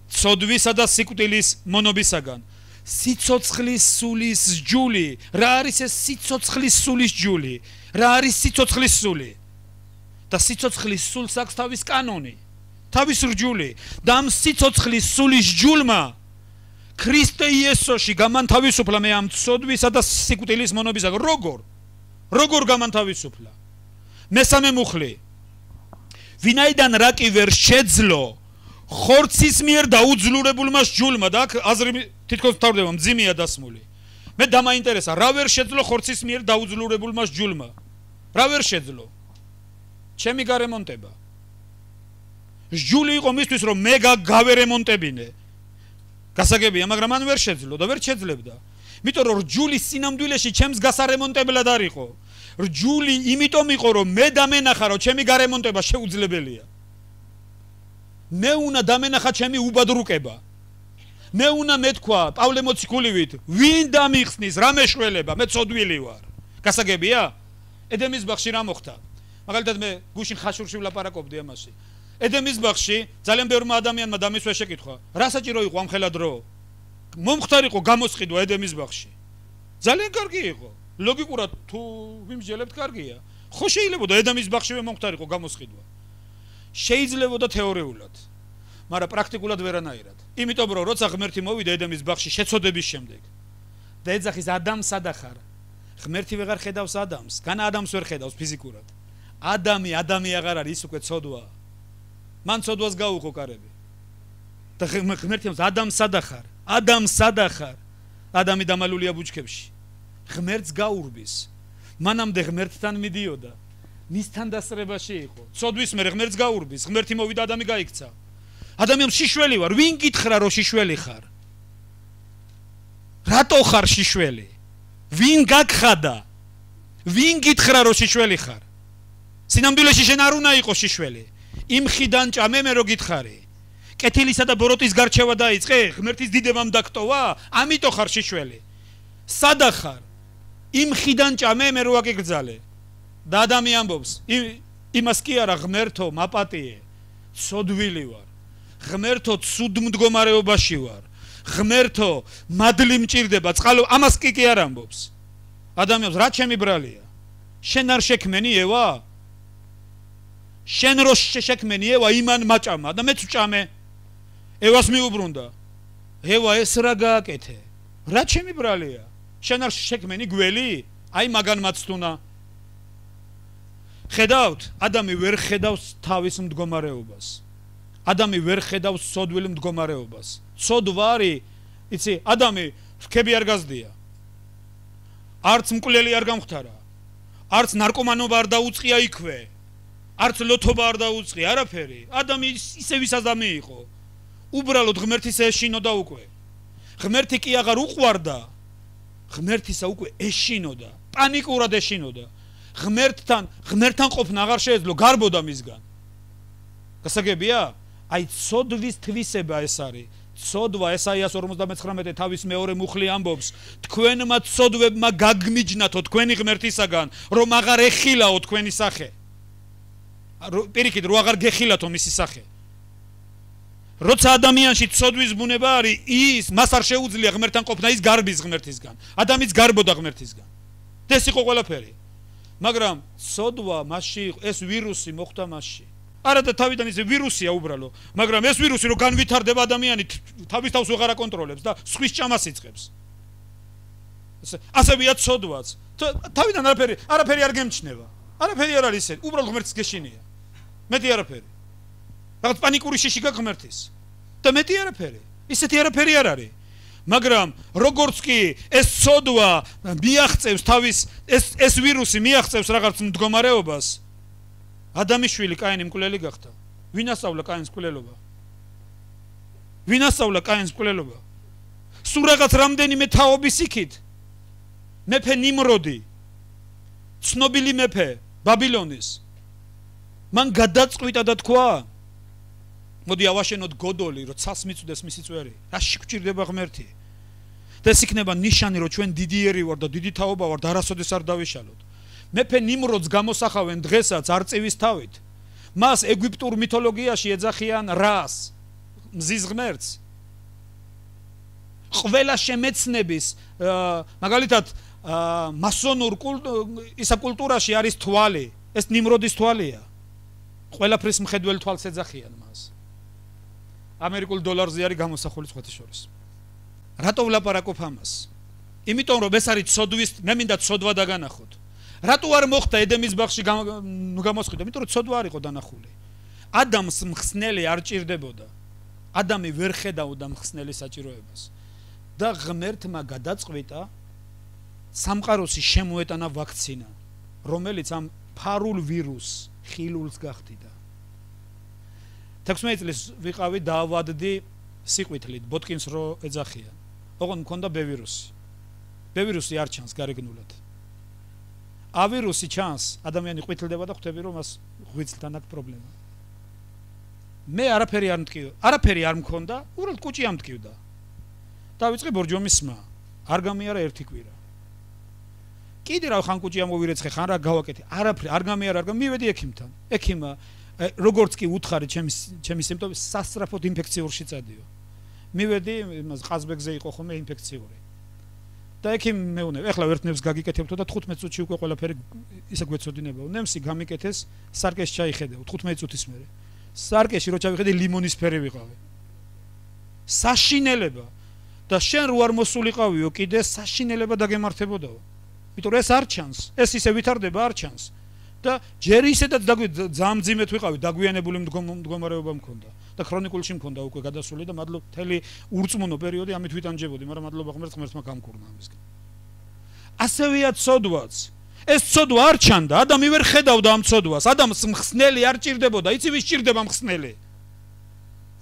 ცოდვისა და სიკვდილის მონობისაგან. სიცოცხლის სულის ჯული, რა არის ეს სიცოცხლის სულის ჯული? რა არის სიცოცხლის სული? და სიცოცხლის სულს აქვს თავის კანონი, თავის რჯული. და ამ სიცოცხლის სულის ჯულმა ქრისტე იესოში გამანთავისუფლა მე ამ ცოდვისა და სიკვდილის მონობისაგან. როგორ? როგორ გამანთავისუფლა? მესამე მუხლი. ვინაიდან რა კი ვერ შეძლო ხორცის მიერ დაუძლურებულმა ჯულმა და აქ აზრი თითქოს მთავრდება მძიმეა დასმული. მე დამაინტერესა, რა ვერ შეძლო ხორცის მიერ დაუძლურებულმა ჯულმა? რა ვერ შეძლო? ჩემი გარემონტება. ჯული იყო მისთვის რომ მე გავერემონტებინე. გასაგებია, მაგრამ მან ვერ შეძლო და ვერ შეძლებდა. იმიტომ რომ ჯული სინამდვილეში ჩემს გასარემონტებლად არ იყო. რჯული იმიტომ იყო რომ მე დამენახა რომ ჩემი გარემონტება შეუძლებელია. მე უნდა დამენახა ჩემი უბადრუკება. მე უნდა მეთქვა პავლე მოციქულივით, ვინ დამიხსნის რა მეშველება, მე ცოდვილი ვარ. გასაგებია? ედემის ბაღში რა მოხდა? მაგალითად მე გუშინ ხაშურში ვლაპარაკობდი ამაში. ედემის ბაღში ძალიან ბევრმა ადამიანმა დამისვა შეკითხვა, რა საჭირო იყო ამ ხელა დრო? მომხდარ იყო გამოსყიდვა ედემის ბაღში. ძალიან კარგი იყო. ლოგიკურად თუ ვიმსჯელებთ კარგია. ხო შეიძლებოდა ედემის ბაღშივე მომხდარ იყო გამოსყიდვა. შეიძლებოდა თეორიულად, მაგრამ პრაქტიკულად ვერანაირად. იმიტომ რომ როცა ღმერთი მოვიდა ედემის ბაღში შეცოდების შემდეგ და ეძახის ადამიანს სადახარ, ღმერთი ვეღარ ხედავს ადამიანს, განა ადამიანს ვერ ხედავს ფიზიკურად. ადამი ადამი აღარ არის, ის უკვე ცოდვა. მან ცოდვას გაუხო კარები. და ღმერთი ამს ადამიანს სადახარ, ადამიანს სადახარ, ადამი დამალულია ბუჩქებში. ღმერთს გაურბის. მანამდე ღმერთთან მიდიოდა. მისთან დასწრებაში იყო. ცოდვის მერე ღმერთს გაურბის. ღმერთი მოვიდა, ადამი გაიქცა. ადამი შიშველი ვარ, ვინ გითხრა რომ შიშველი ხარ? რატო ხარ შიშველი? ვინ გაგხადა? ვინ გითხრა რომ შიშველი ხარ? სინამდვილეში შენ არ უნდა იყო შიშველი. იმ ხიდან ჭამე მე რო გითხარი. კეთილისა და ბოროტის გარჩევა დაიწყე, ღმერთის დიდებამ დაგტოვა, ამიტომ ხარ შიშველი. სადახარ? იმ ხიდან ჭამე მე რო აკიგრძალე. და ადამი ამბობს, იმას კი არა ღმერთო, მაპატიე, ცოდვილი ვარ. ღმერთო, ცუდ მდგომარეობაში ვარ. ღმერთო, მადლი მჭირდება, წყალო, ამას კი კი არ ამბობს. ადამი ამბობს, რა ჩემი ბრალია? შენ არ შექმენი ევა? შენ რო შექმენი ევა იმან მაჭამა და მეც ვჭამე. ევას მიუბრუნდა. ევა ეს რა გააკეთე? რა ჩემი ბრალია? შენ არ შექმენი გველი? აი მაგან მაცთუნა. ხედავთ, ადამი ვერ ხედავს თავის მდგომარეობას. ადამი ვერ ხედავს ცოდვილ მდგომარეობას. ცოდვა არის, იცი, ადამი რქები არ გაზდია. არც მკვლელი არ გამختარა. არც ნარკომანობა არ დაუწყია იქვე. არც ლოთობა არ დაუწყია, არაფერი. ადამი ისე ვის ადამი იყო. უბრალოდ ღმერთის ეშინოდა უკვე. ღმერთი კი აღარ უყვარდა. ღმერთისა უკვე ეშინოდა. პანიკურად ეშინოდა. ღმერთთან, ღმერთთან ყოფნა აღარ შეეძლო, გარბოდა მისგან. გასაგებია? აი ცოდვის თვისება ეს არის. ცოდვა ესაიას ორმოცდამეცხრამეტე თავის მეორე მუხლი ამბობს, თქვენმა ცოდვებმა გაგმიჯნათო თქვენი ღმერთისაგან, რომ აღარ ეხილაო თქვენი სახე. პირიქით, რომ აღარ გეხილათო მისი სახე. როცა ადამიანში ცოდვის ბუნება არის, ის მას არ შეუძლია ღმერთთან ყოფნა, ის გარბის ღმერთისგან. ადამიანს გარბოდა ღმერთისგან. ეს იყო ყველაფერი. მაგრამ ცოდვა მასში ეს ვირუსი მოხვდა მასში. არა და თავიდან ის ვირუსია უბრალო, მაგრამ ეს ვირუსი რო განვითარდება ადამიანი თავის თავს ვეღარ აკონტროლებს და სხვის ჭამას იწყებს. ასევეა ცოდვაც. თავიდან არაფერი, არაფერი არ გემჩნევა. არაფერი არ არის ისე, უბრალოდ ღმერთის გეშინია. მეტი არაფერი. რაღაც პანიკური შიში გაღმერთის. და მეტი არაფერი. ისეთი არაფერი არ არის. მაგრამ როგორც კი ეს ცოდვა მიაღწევს თავის ეს ეს ვირუსი მიაღწევს რაღაც მდგომარეობას, ადამიშვილი კაინი მკვლელი გახდა. ვინ ასწავლა კაინს მკვლელობა? ვინ ასწავლა კაინს მკვლელობა? სულ რაღაც რამდენიმე თაობის იქით. მეფე ნიმროდი, ცნობილი მეფე ბაბილონის. მან გადაწყვიტა და თქვა, მოდი ავაშენოთ გოდოლი, რომ ცას მიწვდეს მისი წვერი. რაში გვჭირდება ღმერთი? და ეს იქნება ნიშანი, რომ ჩვენ დიდიერი ვარ და დიდი თაობა ვარ და არასოდეს არ დავიშალოთ. მეფე ნიმროდს გამოსახავენ დღესაც არწივის თავით. მას ეგვიპტურ მითოლოგიაში ეძახიან რას, მზის ღმერთს. ყველა შემეცნების, მაგალითად, მასონურ ისა კულტურაში არის თვალი, ეს ნიმროდის თვალია. ყველაფრის მხედველ თვალს ეძახიან მას. ამერიკულ დოლარზე არის გამოსახული სხვათა შორის. რატო ვლაპარაკობ ამას? იმიტომ რომ ეს არის ცოდვის, მე მინდა ცოდვა დაგანახოთ. რატო არ მოხდა ედემის ბაღში გამოსყიდვა? იმიტომ რომ ცოდვა არ იყო დანახული. ადამს მხსნელი არ ჭირდებოდა. ადამი ვერ ხედავდა მხსნელის საჭიროებას. და ღმერთმა გადაწყვიტა სამყაროსი შემოეტანა ვაქცინა, რომელიც ამ ფარულ ვირუსს ხილულს გახდიდა. თექვსმეტი წლის ვიყავი დავადდი სიყვითლით, ბოტკინს რო ეძახიან. ოღონდ მქონდა ბ ვირუსი. ბ ვირუსი არ ჩანს გარეგნულად. ა ვირუსი ჩანს, ადამიანი ყვითლდება და ხვდები რომ მას ღვიძლთან აქვს პრობლემა. მე არაფერი არ მткиო, არაფერი არ მქონდა, უბრალოდ კუჭი ამткиვდა. დავიწყე ბორჯომის სმა, არ გამიარა ერთი კვირა. კიდე რა ხან კუჭი ამოვირეცხე, ხან რა გავაკეთე, არაფერი არ გამიარა, არ გამივედი ექიმთან. ექიმა როგორც კი უთხარი ჩემი ჩემი სიმპტომი სასწრაფოდ ინფექციური წადიო. მივედი, იმას ყაზბეგზე იყო ხოლმე ინფექციური. და ექიმ მეუნე, ეხლა ერთ ნემს გაგიკეთებთო და თხუთმეტ წუთში უკვე ყველაფერი ისე გვეცოდინებაო. ნემსი გამიკეთეს, სარკეში ჩაიხედეო თხუთმეტ წუთის მერე. სარკეში რო ჩავიხედე ლიმონისფერი ვიყავი. საშინელება და შენ რო არ მოსულიყავიო კიდე საშინელება დაგემართებოდაო. იმიტომ რომ ეს არ ჩანს, ეს ისე ვითარდება არ ჩანს. და ჯერ ისედაც ძალიან მძიმედ ვიყავი, დაგვიანებული მდგომარეობა მქონდა და ქრონიკულში მქონდა უკვე გადასული და მადლობა მთელი ურწმუნო პერიოდი ამით ვიტანჯებოდი, მაგრამ მადლობა ღმერთს, ღმერთმა გამკურნა ამისგან. ასევეა ცოდვაც. ეს ცოდვა არ ჩანდა, ადამი ვერ ხედავდა ამ ცოდვას, ადამიანს მხსნელი არ ჭირდებოდა, იცი ვის ჭირდება მხსნელი?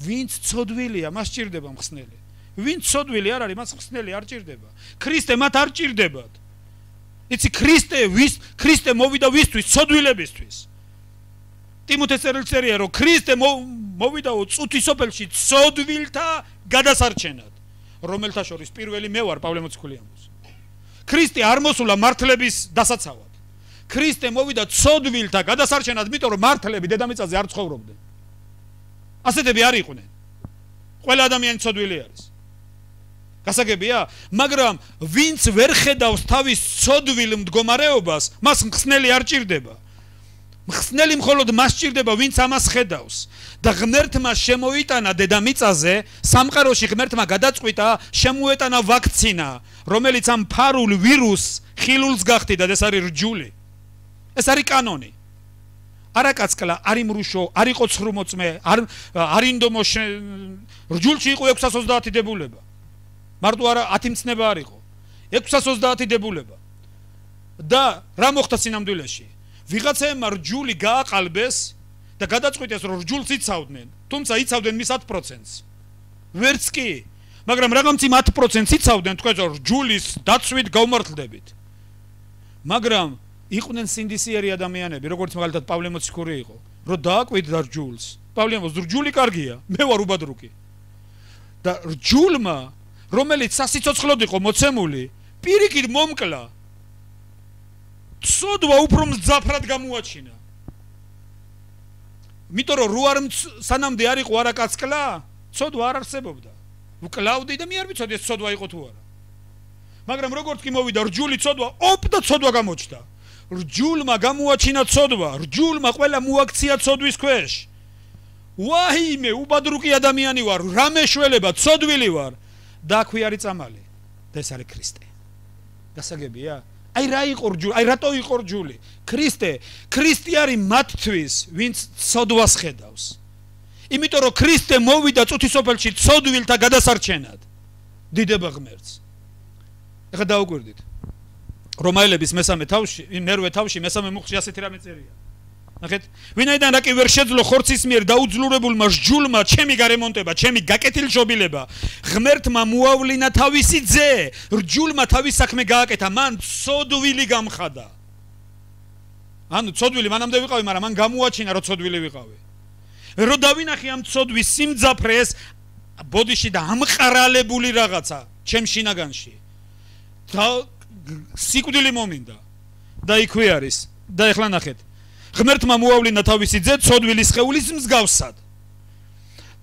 ვინც ცოდვილია, მას ჭირდება მხსნელი. ვინც ცოდვილი არ არის, მას მხსნელი არ ჭირდება. ქრისტე მათ არ ჭირდებათ. იცი ქრისტე ვის ქრისტე მოვიდა ვისთვის? ცოდვილებისთვის. ტიმოთეს წერილწერია რომ ქრისტე მოვიდაო წუთისოფელში ცოდვილთა გადასარჩენად, რომელთა შორის პირველი მე ვარ, პავლე მოციქული ამბობს. ქრისტე არ მოსულა მართლების დასაცავად. ქრისტე მოვიდა ცოდვილთა გადასარჩენად, იმიტომ რომ მართლები დედამიწაზე არ ცხოვრობდნენ. ასეთები არ იყვნენ. ყველა ადამიანი ცოდვილი არის. გასაგებია, მაგრამ ვინც ვერ ხედავს თავის ცოდვილ მდგომარეობას, მას მხსნელი არ ჭირდება. მხსნელი მხოლოდ მას ჭირდება, ვინც ამას ხედავს. და ღმერთმა შემოიტანა დედამიწაზე, სამყაროში ღმერთმა გადაწყვიტა, შემოეტანა ვაქცინა, რომელიც ამ ფარულ ვირუსს ხილულს გახდიდა და ეს არის რჯული. ეს არის კანონი. არაკაცკლა, არი მრუშო, არი ყოცრუმოწმე, არ არინდომო რჯულში იყო ექვსას ოცდაათი დებულება. მარტო არა ათი მცნება არ იყო. ექვსას ოცდაათი დებულება. და რა მოხდა სინამდვილეში? ვიღაცაებმა რჯული გააყალბეს და გადაწყვიტეს რომ რჯულს იცავდნენ, თუმცა იცავდნენ მის ათ პროცენტს. ვერც კი, მაგრამ რაღაცი ათ პროცენტს იცავდნენ, თქვენ რომ რჯულის დაცვით გავმართლდებით. მაგრამ იყვნენ სინდისიერი ადამიანები, როგორც მაგალითად პავლე მოციქური იყო, რომ დააკვირდა რჯულს. პავლე მოციქური რჯული კარგია, მე ვარ უბადრუკი. და რჯულმა, რომელიც სასიცოცხლოდ იყო მოცემული, პირიქით მომკლა. ცოდვა უფრო მძაფრად გამოაჩინა. იმიტომ რომ რო არ სანამდე არ იყო არაკაცკლა, ცოდვა არ არსებობდა. ვკლავდი და მე არ ვიცოდი ეს ცოდვა იყო თუ არა. მაგრამ როგორც კი მოვიდა რჯული ცოდვა, ოპ და ცოდვა გამოჩნდა. რჯულმა გამოაჩინა ცოდვა, რჯულმა ყველა მოაქცია ცოდვის ქვეშ. ვაიმე, უბადრუკი ადამიანი ვარ, რა მეშველება, ცოდვილი ვარ. და აქვე არის წამალი. და ეს არის ქრისტე. გასაგებია? აი რა იყო რჯული, აი რატო იყო რჯული? ქრისტე, ქრისტე არის მათთვის, ვინც ცოდვას ხედავს. იმიტომ რომ ქრისტე მოვიდა წუთისოფელში ცოდვილთა გადასარჩენად. დიდება ღმერთს. ეხლა დაუკვირდით. რომაელების მესამე თავში, მერვე თავში მესამე მუხლში ასეთი რამე წერია. ნახეთ, ვინაიდან რა კი ვერ შეძლო ხორცის მიერ დაუძლურებულმა რჯულმა ჩემი გარემონტება, ჩემი გაკეთილშობილება, ღმერთმა მოავლინა თავისი ძე, რჯულმა თავის საქმე გააკეთა, მან ცოდვილი გამხადა. ანუ ცოდვილი მანამდე ვიყავი, მაგრამ მან გამოაჩინა რომ ცოდვილი ვიყავი. რო დავინახე ამ ცოდვის სიმძაფრეს, ბოდიში და ამყარალებული რაღაცა ჩემ შინაგანში. და სიკვდილი მომინდა. და იქვე არის. და ეხლა ნახეთ. ღმერთმა მოავლინა თავისი ძე ცოდვილის სხეულის მსგავსად.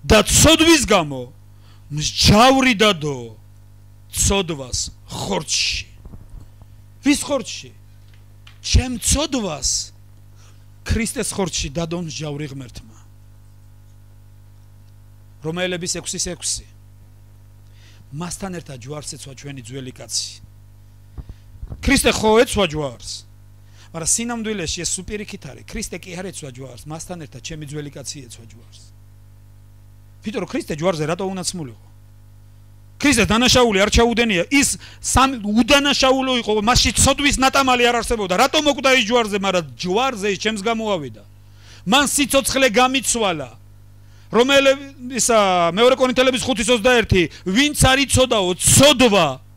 და ცოდვის გამო მსჯავრი დადო ცოდვას ხორცში. ვის ხორცში? ჩემ ცოდვას ქრისტეს ხორცში დადო მსჯავრი ღმერთმა. რომაელების ექვსის ექვსი. მასთან ერთად ჯვარს ეცვა ჩვენი ძველი კაცი. ქრისტე ხო ეცვა ჯვარს. მაგრამ სინამდვილეში ეს სუპირიქით არის. ქრისტე კი არ ეცვა ჯვარს, მასთან ერთად ჩემი ძველი კაცი ეცვა ჯვარს. ვიტყვი რომ ქრისტე ჯვარზე რატო უნაცმულიყო? ქრისტეს დანაშაული არ ჩაუდენია, ის სამი უდანაშაულო იყო, მასში ცოდვის ნატამალი არ არსებობდა. რატო მოკვდა ის ჯვარზე, მაგრამ ჯვარზე ის ჩემს გამოავიდა. მან სიცოცხლე გამიცვალა. რომელების მეორე კორინთელების ხუთის ოცდაერთი, ვინც არ იცოდაო ცოდვა,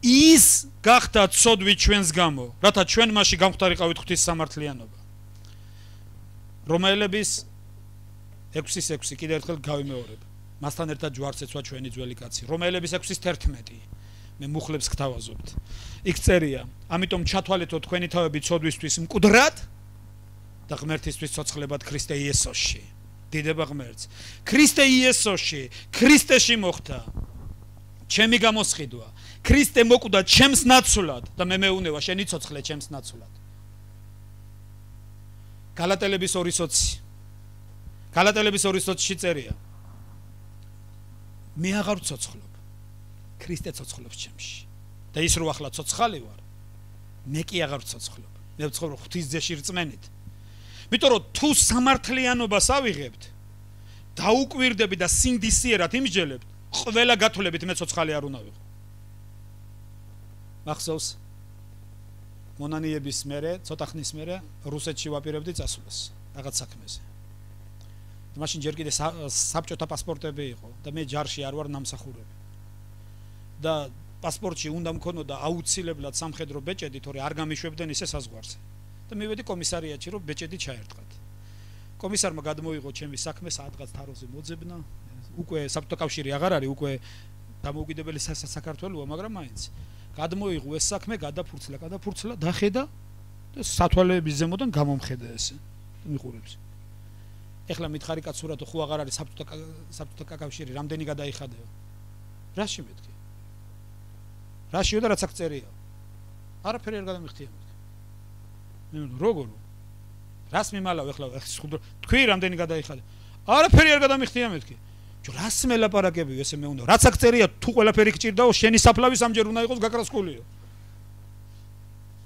ის გახდა ცოდვით ჩვენს გამო, რათა ჩვენ მასში გამختარიყავით ღვთის სამართლიანობა. რომაელების ექვსის ექვსი კიდევ ერთხელ გავიმეორებ. მასთან ერთად ჯვარს ეცვა ჩვენი ძველი კაცი. რომაელების ექვსის თერთმეტი. მე მუხლებს გთავაზობთ. იქ წერია, ამიტომ ჩათვალეთო თქვენი თავები ცოდვისთვის მკვდრად და ღმერთისთვის ცოცხლებად ქრისტე იესოში. დიდება ღმერთს. ქრისტე იესოში, ქრისტეში მოხდა ჩემი გამოსყიდვა. ქრისტე მოკვდა ჩემს ნაცვლად და მე მეუნევა შენი ცოცხლე ჩემს ნაცვლად. გალატელების ორი ოცი. გალატელების ორი ოცში წერია. მე აღარ ვცოცხლობ. ქრისტე ცოცხლობს ჩემში. და ის რო ახლა ცოცხალი ვარ, მე კი აღარ ვცოცხლობ. მე ვცხოვრობ ღვთის ძეში რწმენით. იმიტომ რომ თუ სამართლიანობას ავიღებთ, დაუკვირდები და სინდისიერად იმსჯელებთ, ყველა გათვლებით მე ცოცხალი არ უნდა ვიყო. მახსოვს მონანიების მერე, ცოტა ხნის მერე რუსეთში ვაპირებდი წასვლას რაღაც საქმეზე. მაშინ ჯერ კიდე საბჭოთა პასპორტები იყო და მე ჯარში არ ვარ ნამსახურები. და პასპორტში უნდა მქონოდა აუცილებლად სამხედრო ბეჭედი, თორე არ გამიშვებდნენ ისე საზღვარზე. და მივედი კომისარიატში, რომ ბეჭედი ჩაერტყათ. კომისარმა გადმოიღო ჩემი საქმე, საათღაც თაროზე მოძებნა. უკვე საბჭოთა კავშირი აღარ არის, უკვე დამოუკიდებელი საქართველოა, მაგრამ მაინც გადმოიღო ეს საქმე, გადაფურცლა, გადაფურცლა, დახედა და სათვალეების ზემოდან გამომხედა ესე. მიყურებს. ეხლა მითხარი კაცურათო, ხო აღარ არის საბჭოთა საბჭოთა კავშირი, რამდენი გადაიხადეო? რაში მეთქი? რაშიო და რაც აქ წერია? არაფერი არ გადამიხდია მეთქი. მე როგორ? რას მიმალავ ეხლა თქვი რამდენი გადაიხადე? არაფერი არ გადამიხდია მეთქი. ჯო რას მელაპარაკებიო ესე მე უნდა? რაც აქ წერია, თუ ყველაფერი გჭირდაო, შენი საფლავი სამჯერ უნდა იყოს გაკრასკულიო.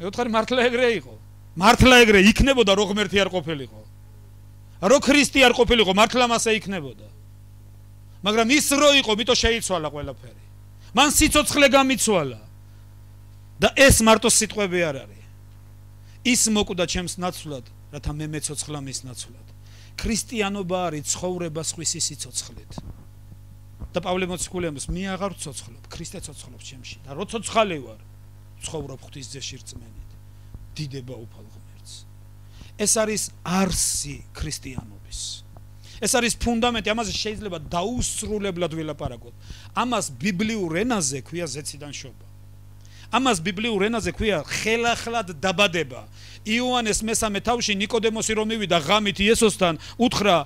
მე ვთხარი მართლა ეგრე იყო. მართლა ეგრე იქნებოდა რო ღმერთი არ ყოფილიყო. რო ქრისტე არ ყოფილიყო მართლა მასე იქნებოდა. მაგრამ ის რო იყო, მითო შეიცვალა ყველაფერი. მან სიცოცხლე გამიცვალა. და ეს მარტო სიტყვები არ არის. ის მოკვდა ჩემს ნაცვლად, რათა მე მეცოცხლა მის ნაცვლად. ქრისტიანობა არის ცხოვრება სხვისი სიცოცხლით. და პავლე მოციქული ამბობს, მე აღარ ვცოცხლობ, ქრისტე ცოცხლობს ჩემში და რო ცოცხალი ვარ, ცხოვრობ ღვთის ძეში რწმენით. დიდება უფალ ღმერთს. ეს არის არსი ქრისტიანობის. ეს არის ფუნდამენტი, ამაზე შეიძლება დაუსრულებლად ვილაპარაკოთ. ამას ბიბლიურ ენაზე ქვია ზეციდან შობა. ამას ბიბლიურ ენაზე ქვია ხელახლად დაბადება. იოანეს მესამე თავში ნიკოდემოსი რომ მივიდა ღამით იესოსთან, უთხრა,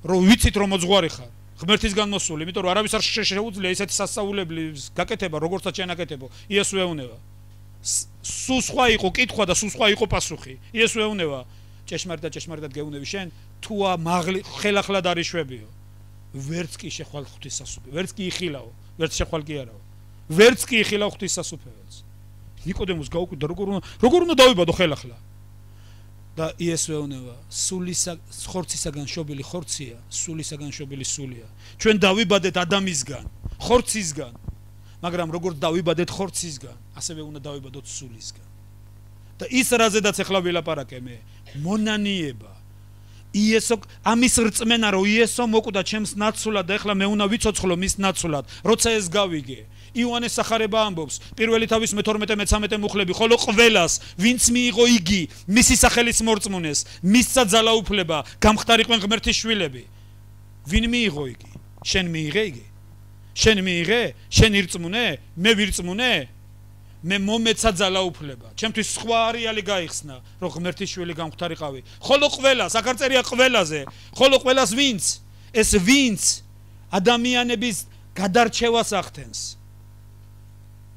რომ ვიცით რომ მოძღვარი ხარ, ღმერთისგან მოსული, იმიტომ რომ არავის არ შეუძლია ისეთი სასწაულებლი გაკეთება, როგორცაც შენაკეთებო. იესო ეუბნება. სულ სხვა იყო კითხვა და სულ სხვა იყო პასუხი. იესო ეუბნება, ჭეშმარიტად ჭეშმარიტად გეუბნები შენ, თუ მაღლი ხელახლად არ იშვებიო. ვერც კი შეხვალ ღვთის სასუფეველს, ვერც კი იხილაო, ვერც შეხვალ კი არაო. ვერც კი იხილავ ღვთის სასუფეველს. ნიკოდემოს გაუკვირდა, როგორ უნდა როგორ უნდა დავიბადო ხელახლა. და იესო ეუბნება, სულისა ხორცისაგან შობილი ხორცია, სულისაგან შობილი სულია. ჩვენ დავიბადეთ ადამისგან, ხორცისგან. მაგრამ როგორც დავიბადეთ ხორცისგან, ასევე უნდა დავიბადოთ სულისგან. და ის რაზედაც ახლა ვილაპარაკე მე, მონანიება. იესო ამის რწმენა რომ იესო მოკვდა ჩემს ნაცვლად და ახლა მე უნდა ვიცოცხლო მის ნაცვლად, როცა ეს გავიგე. იოანეს სახარება ამბობს, პირველი თავის მეთორმეტე მეცამეტე მუხლები, ხოლო ყველას, ვინც მიიღო იგი, მისი სახელის მორწმუნეს, მისცა ძალაუფლება, გამხდარიყვენ ღმერთის შვილები. ვინ მიიღო იგი? შენ მიიღე იგი? შენ მიიღე? შენ ირწმუნე? მე ვირწმუნე? მე მომეცა ძალაუფლება. ჩემთვის სხვა არეალი გაიხსნა, რომ ღმერთის შვილი გამხდარიყავი. ხოლო ყველას, აქ არ წერია ყველაზე, ხოლო ყველას ვინც? ეს ვინც ადამიანების გადარჩევას ახდენს.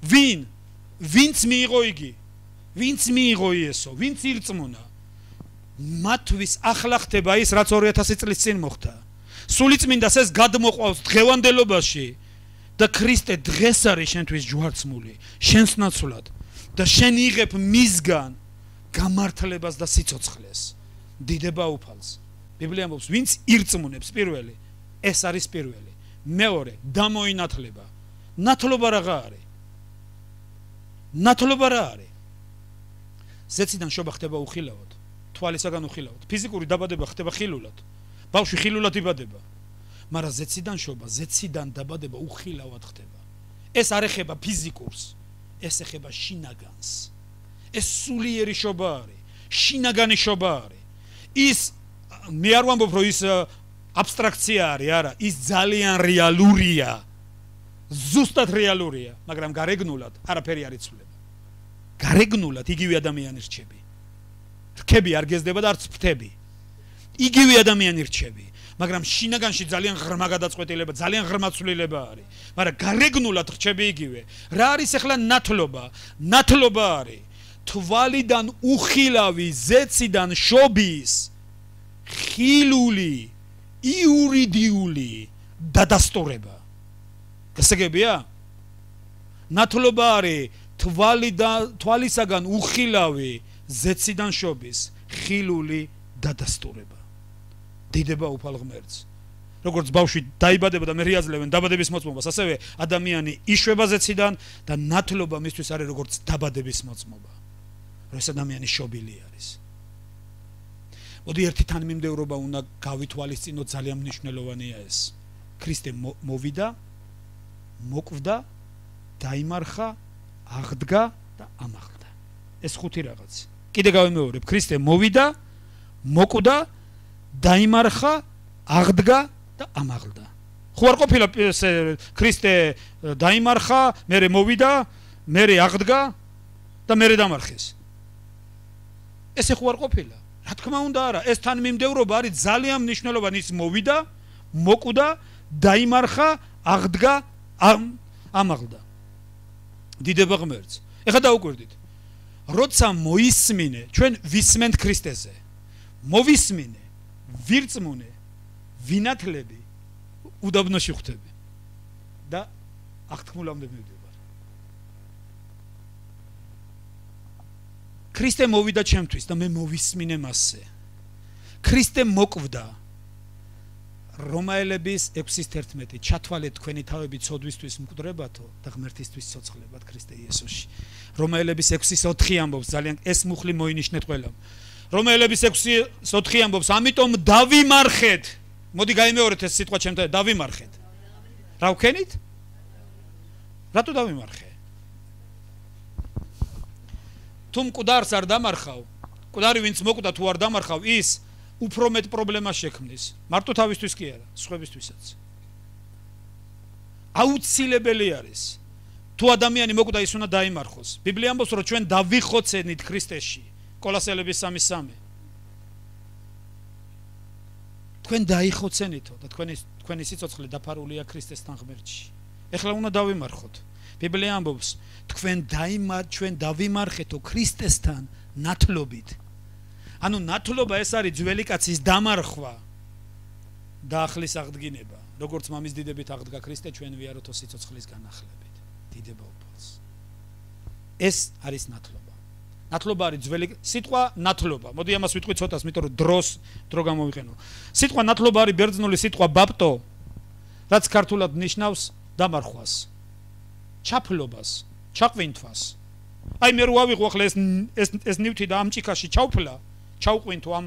ვინ? ვინც მიიღო იგი? ვინც მიიღო იესო? ვინც ირწმუნა? მათთვის ახლა ხდება ის, რაც ორი ათასი წლის წინ მოხდა. სულიწმინდას ეს გადმოყვავს დღევანდელობაში. და ქრისტე დღეს არის შენთვის ჯვარცმული, შენს ნაცვლად და შენ იღებ მისგან გამართლებას და სიცოცხლეს. დიდება უფალს. ბიბლია ამბობს, ვინც ირწმუნებს პირველი, ეს არის პირველი. მეორე, დამოინათლება. ნათლობა რაღა არის? ნათლობა რა არის? ზეციდან შობა ხდება უხილავად, თვალისაგან უხილავად. ფიზიკური დაბადება ხდება ხილულად. ბავშვი ხილულად იბადება. მაგრამ ზეციდან შობა, ზეციდან დაბადება უხილავად ხდება. ეს არ ეხება ფიზიკურს, ეს ეხება შინაგანს. ეს სულიერი შობა არის, შინაგანი შობა არის. ის მე არ ვამბობ, რომ ის აბსტრაქცია არის, არა, ის ძალიან რეალურია. ზუსტად რეალურია, მაგრამ გარეგნულად არაფერი არ იცვლება. გარეგნულად იგივე ადამიანი რჩები. რქები არ გეზდება და არც ფრთები. იგივე ადამიანი რჩები. მაგრამ შინაგანში ძალიან ღრმა გადაწყვეტილება, ძალიან ღრმა ცვლილება არის. მაგრამ გარეგნულად რჩები იგივე. რა არის ახლა ნათლობა? ნათლობა არის თვალიდან უხილავი ზეციდან შობის ხილული, იურიდიული დადასტურება. გასაგებია? ნათლობა არის თვალიდან თვალისაგან უხილავი ზეციდან შობის ხილული დადასტურება. დიდება უფალ ღმერთს. როგორც ბავშვი დაიბადება და მე რეაზლებენ დაბადების მოწმობას, ასევე ადამიანი იშვება ზეციდან და ნათლობა მისთვის არის როგორც დაბადების მოწმობა. რომ ეს ადამიანი შობილი არის. მოდი ერთი თანმიმდევრობა უნდა გავითვალისწინოთ, ძალიან მნიშვნელოვანია ეს. ქრისტე მოვიდა, მოკვდა, დაიმარხა, აღდგა და ამაღლდა. ეს ხუთი რაღაც. კიდე გავიმეორებ, ქრისტე მოვიდა, მოკვდა, დაიმარხა, აღდგა და ამაღლდა. ხო არ ყოფილა ქრისტე დაიმარხა, მერე მოვიდა, მერე აღდგა და მერე დამარხეს. ესე ხო არ ყოფილა? რა თქმა უნდა არა, ეს თანმიმდევრობა არის ძალიან მნიშვნელოვანი. ის მოვიდა, მოკვდა, დაიმარხა, აღდგა, ამაღლდა. დიდება ღმერთს. ეხლა დაუკვირდით. როცა მოისმინე, ჩვენ ვისმენთ ქრისტეზე. მოვისმინე, ვირწმუნე, ვინათლები, უდაბნოში ხვდები და აღთქმულამდე მივდივარ. ქრისტე მოვიდა ჩემთვის და მე მოვისმინე მასზე. ქრისტე მოკვდა. რომაელების ექვსის თერთმეტი ჩათვალეთ თქვენი თავები ცოდვისთვის მკვდრებათო და ღმერთისთვის ცოცხლებად ქრისტე იესოში. რომაელების ექვსის ოთხი ამბობს ძალიან ეს მუხლი მოინიშნეთ ყველამ. რომაელების ექვსის ოთხი ამბობს ამიტომ დავიმარხეთ. მოდი გაიმეორეთ ეს სიტყვა ჩემთან დავიმარხეთ. რა ვქენით? რატო დავიმარხე? თუ მკვდარს არ დამარხავ, მკვდარი ვინც მოკვდა თუ არ დამარხავ, ის უფრო მეტ პრობლემას შექმნის. მარტო თავისთვის კი არა, სხვებისთვისაც. აუცილებელი არის. თუ ადამიანი მოკვდა, ის უნდა დაიმარხოს. ბიბლია ამბობს, რომ ჩვენ დავიხოცენით ქრისტეში. კოლოსელების სამი სამი. თქვენ დაიხოცენითო და თქვენი თქვენი სიცოცხლე დაფარულია ქრისტესთან ღმერთში. ეხლა უნდა დავიმარხოთ. ბიბლია ამბობს, თქვენ დაიმარ ჩვენ დავიმარხეთო ქრისტესთან ნათლობით. ანუ ნათლობა ეს არის ძველი კაცის დამარხვა და ახლის აღდგინება. როგორც მამის დიდებით აღდგა ქრისტე, ჩვენ ვიაროთო სიცოცხლის განახლებით. დიდება უფალს. ეს არის ნათლობა. ნათლობა არის ძველი სიტყვა ნათლობა. მოდი ამას ვიტყვი ცოტას, იმიტომ რომ დროს დრო გამოვიყენო. სიტყვა ნათლობა არის ბერძნული სიტყვა ბაპტო, რაც ქართულად ნიშნავს დამარხვას, ჩაფლობას, ჩაყვინთვას. აი მე რო ავიღო ახლა ეს ეს ეს ნივთი და ამ ჭიქაში ჩავფლა, ჩავყვინთო ამ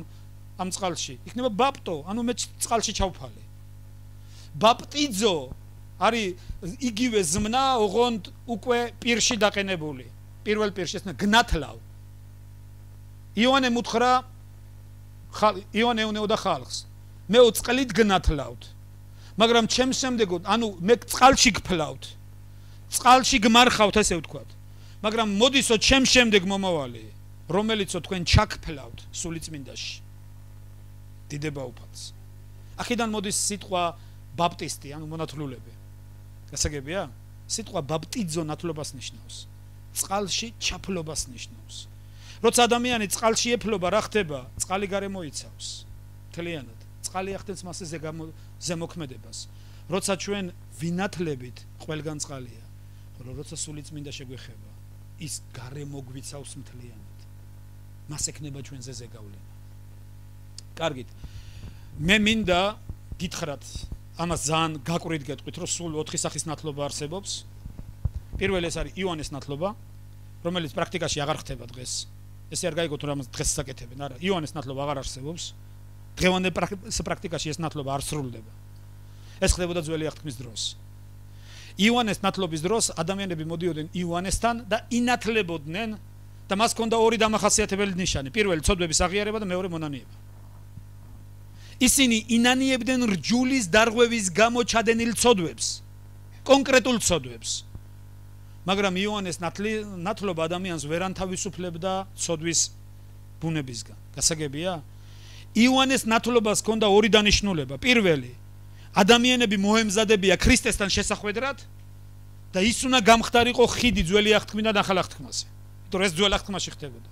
ამ წყალში. იქნება ბაპტო, ანუ მე წყალში ჩავფალე. ბაპტიძო არის იგივე ზმნა, ოღონდ უკვე პირში დაყენებული. პირველ პირში ეს გნათლავ. იონე მუთხრა იონე უნეოდა ხალხს. მე წყლით გნათლავთ. მაგრამ ჩემს შემდეგო, ანუ მე წყალში გფლავთ. წყალში გმარხავთ, ესე ვთქვათ. მაგრამ მოდისო ჩემს შემდეგ მომავალი, რომელიცო თქვენ ჩაგფლავთ სულიწმინდაში. დიდება უფალს. აქედან მოდის სიტყვა ბაპტისტი, ანუ მონათლულები. გასაგებია? სიტყვა ბაპტიძო ნათლობას ნიშნავს. წყალში ჩაფლობას ნიშნავს. როცა ადამიანი წყალში ეფლობა, რა ხდება? წყალი გარემოიცავს. მთლიანად. წყალი ახდენს მასზე ზემოქმედებას. როცა ჩვენ ვინათლებით, ყველგან წყალია. ხოლო როცა სულიწმინდა შეგვეხება, ის გარემოგვიცავს მთლიანად. მას ექნება ჩვენზე ზეგავლენა. კარგით. მე მინდა გითხრათ, ამას ძალიან გაკვირვით გეტყვით, რომ სულ ოთხი სახის ნათლობა არსებობს. პირველი ეს არის იონეს ნათლობა, რომელიც პრაქტიკაში აღარ ხდება დღეს. ესე არ გაიგოთ, რომ ამას დღეს საკეთებენ, არა, იონეს ნათლობა აღარ არსებობს. დღევანდელ პრაქტიკაში ეს ნათლობა არ სრულდება. ეს ხდებოდა ძველი აღთქმის დროს. იონეს ნათლობის დროს ადამიანები მოდიოდნენ იონესთან და ინათლებოდნენ და მას ჰქონდა ორი დამახასიათებელი ნიშანი. პირველი ცოდვების აღიარება და მეორე მონანიება. ისინი ინანიებდნენ რჯულის დარღვევის გამო ჩადენილ ცოდვებს, კონკრეტულ ცოდვებს. მაგრამ იონეს ნათლობა ადამიანს ვერ ანთავისუფლებდა ცოდვის ბუნებისგან. გასაგებია? იონეს ნათლობას ჰქონდა ორი დანიშნულება. პირველი, ადამიანები მოემზადებია ქრისტესთან შესახვედრად და ის უნდა გამხდარიყო ხიდი ძველი აღთქმიდან ახალ აღთქმაზე. იმიტომ რომ ეს ძველ აღთქმაში ხდებოდა.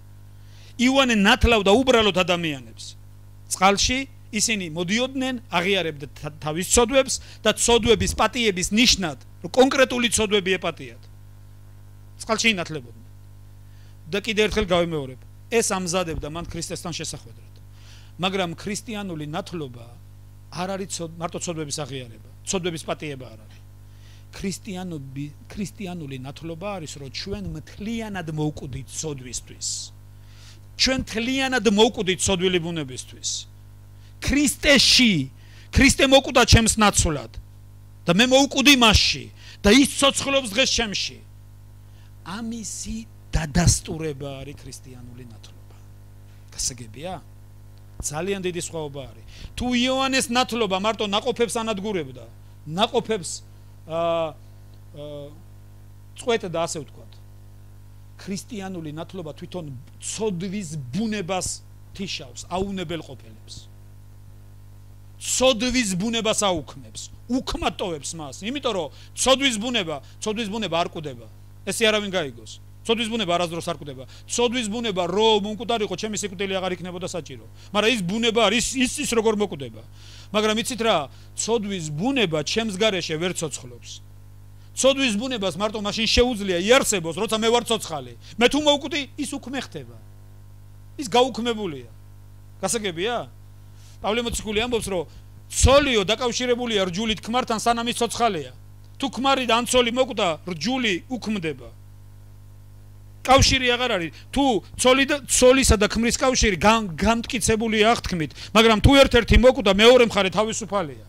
იონე ნათლავდა უბრალოდ ადამიანებს. წყალში ისინი მოდიოდნენ, აღიარებდა თავის ცოდვებს და ცოდვების პატიების ნიშნად, რომ კონკრეტული ცოდვები ეპატიათ. წყალში ინათლებოდნენ. და კიდევ ერთხელ გავიმეორებ, ეს ამზადებდა მან ქრისტესთან შესახვედრად. მაგრამ ქრისტიანული ნათლობა არ არის მარტო ცოდვების აღიარება, ცოდვების პატიება არ არის. ქრისტიანობი, ქრისტიანული ნათლობა არის, რომ ჩვენ მთლიანად მოვკვდით ცოდვისთვის. ჩვენ მთლიანად მოვკვდით ცოდვილი ბუნებისთვის. ქრისტეში, ქრისტე მოკვდა ჩემს ნაცვლად და მე მოვკვდი მასში და ის ცოცხლობს დღეს ჩემში. ამისი დადასტურება არის ქრისტიანული ნათლობა. გასაგებია? ძალიან დიდი სხვაობა არის. თუ იონეს ნათლობა მარტო ნაყოფებს ანადგურებდა, ნაყოფებს აა წყვეტდა, ასე ვთქვათ. ქრისტიანული ნათლობა თვითონ ცოდვის ბუნებას თიშავს, აუნებელ ყოფილებს. ცოდვის ბუნებას აუქმებს, უქმატოვებს მას, იმიტომ რომ ცოდვის ბუნება, ცოდვის ბუნება არ კვდება. ესე არავინ გაიგოს. ცოდვის ბუნება არასდროს არ კვდება. ცოდვის ბუნება რომ მომკვდარიყო, ჩემი სიკვდილი აღარ იქნებოდა საჭირო. მაგრამ ის ბუნება არის ის ის როგორ მოკვდება. მაგრამ იცით რა, ცოდვის ბუნება ჩემს გარეშე ვერ ცოცხლობს. ცოდვის ბუნებას მარტო მაშინ შეუძლია იარსებოს, როცა მე ვარ ცოცხალი. მე თუ მოვკვდი, ის უქმე ხდება. ის გაუქმებულია. გასაგებია? პავლე მოციქული ამბობს, რომ ცოლიო დაკავშირებულია რჯულით ქმართან, სანამ ის ცოცხალია. თუ ქმარი და ან ცოლი მოკვდა, რჯული უქმდება. კავშირი აღარ არის. თუ ცოლი და ცოლისა და ქმრის კავშირი გამტკიცებულია აღთქმით, მაგრამ თუ ერთ-ერთი მოკვდა, მეორე მხარე თავისუფალია.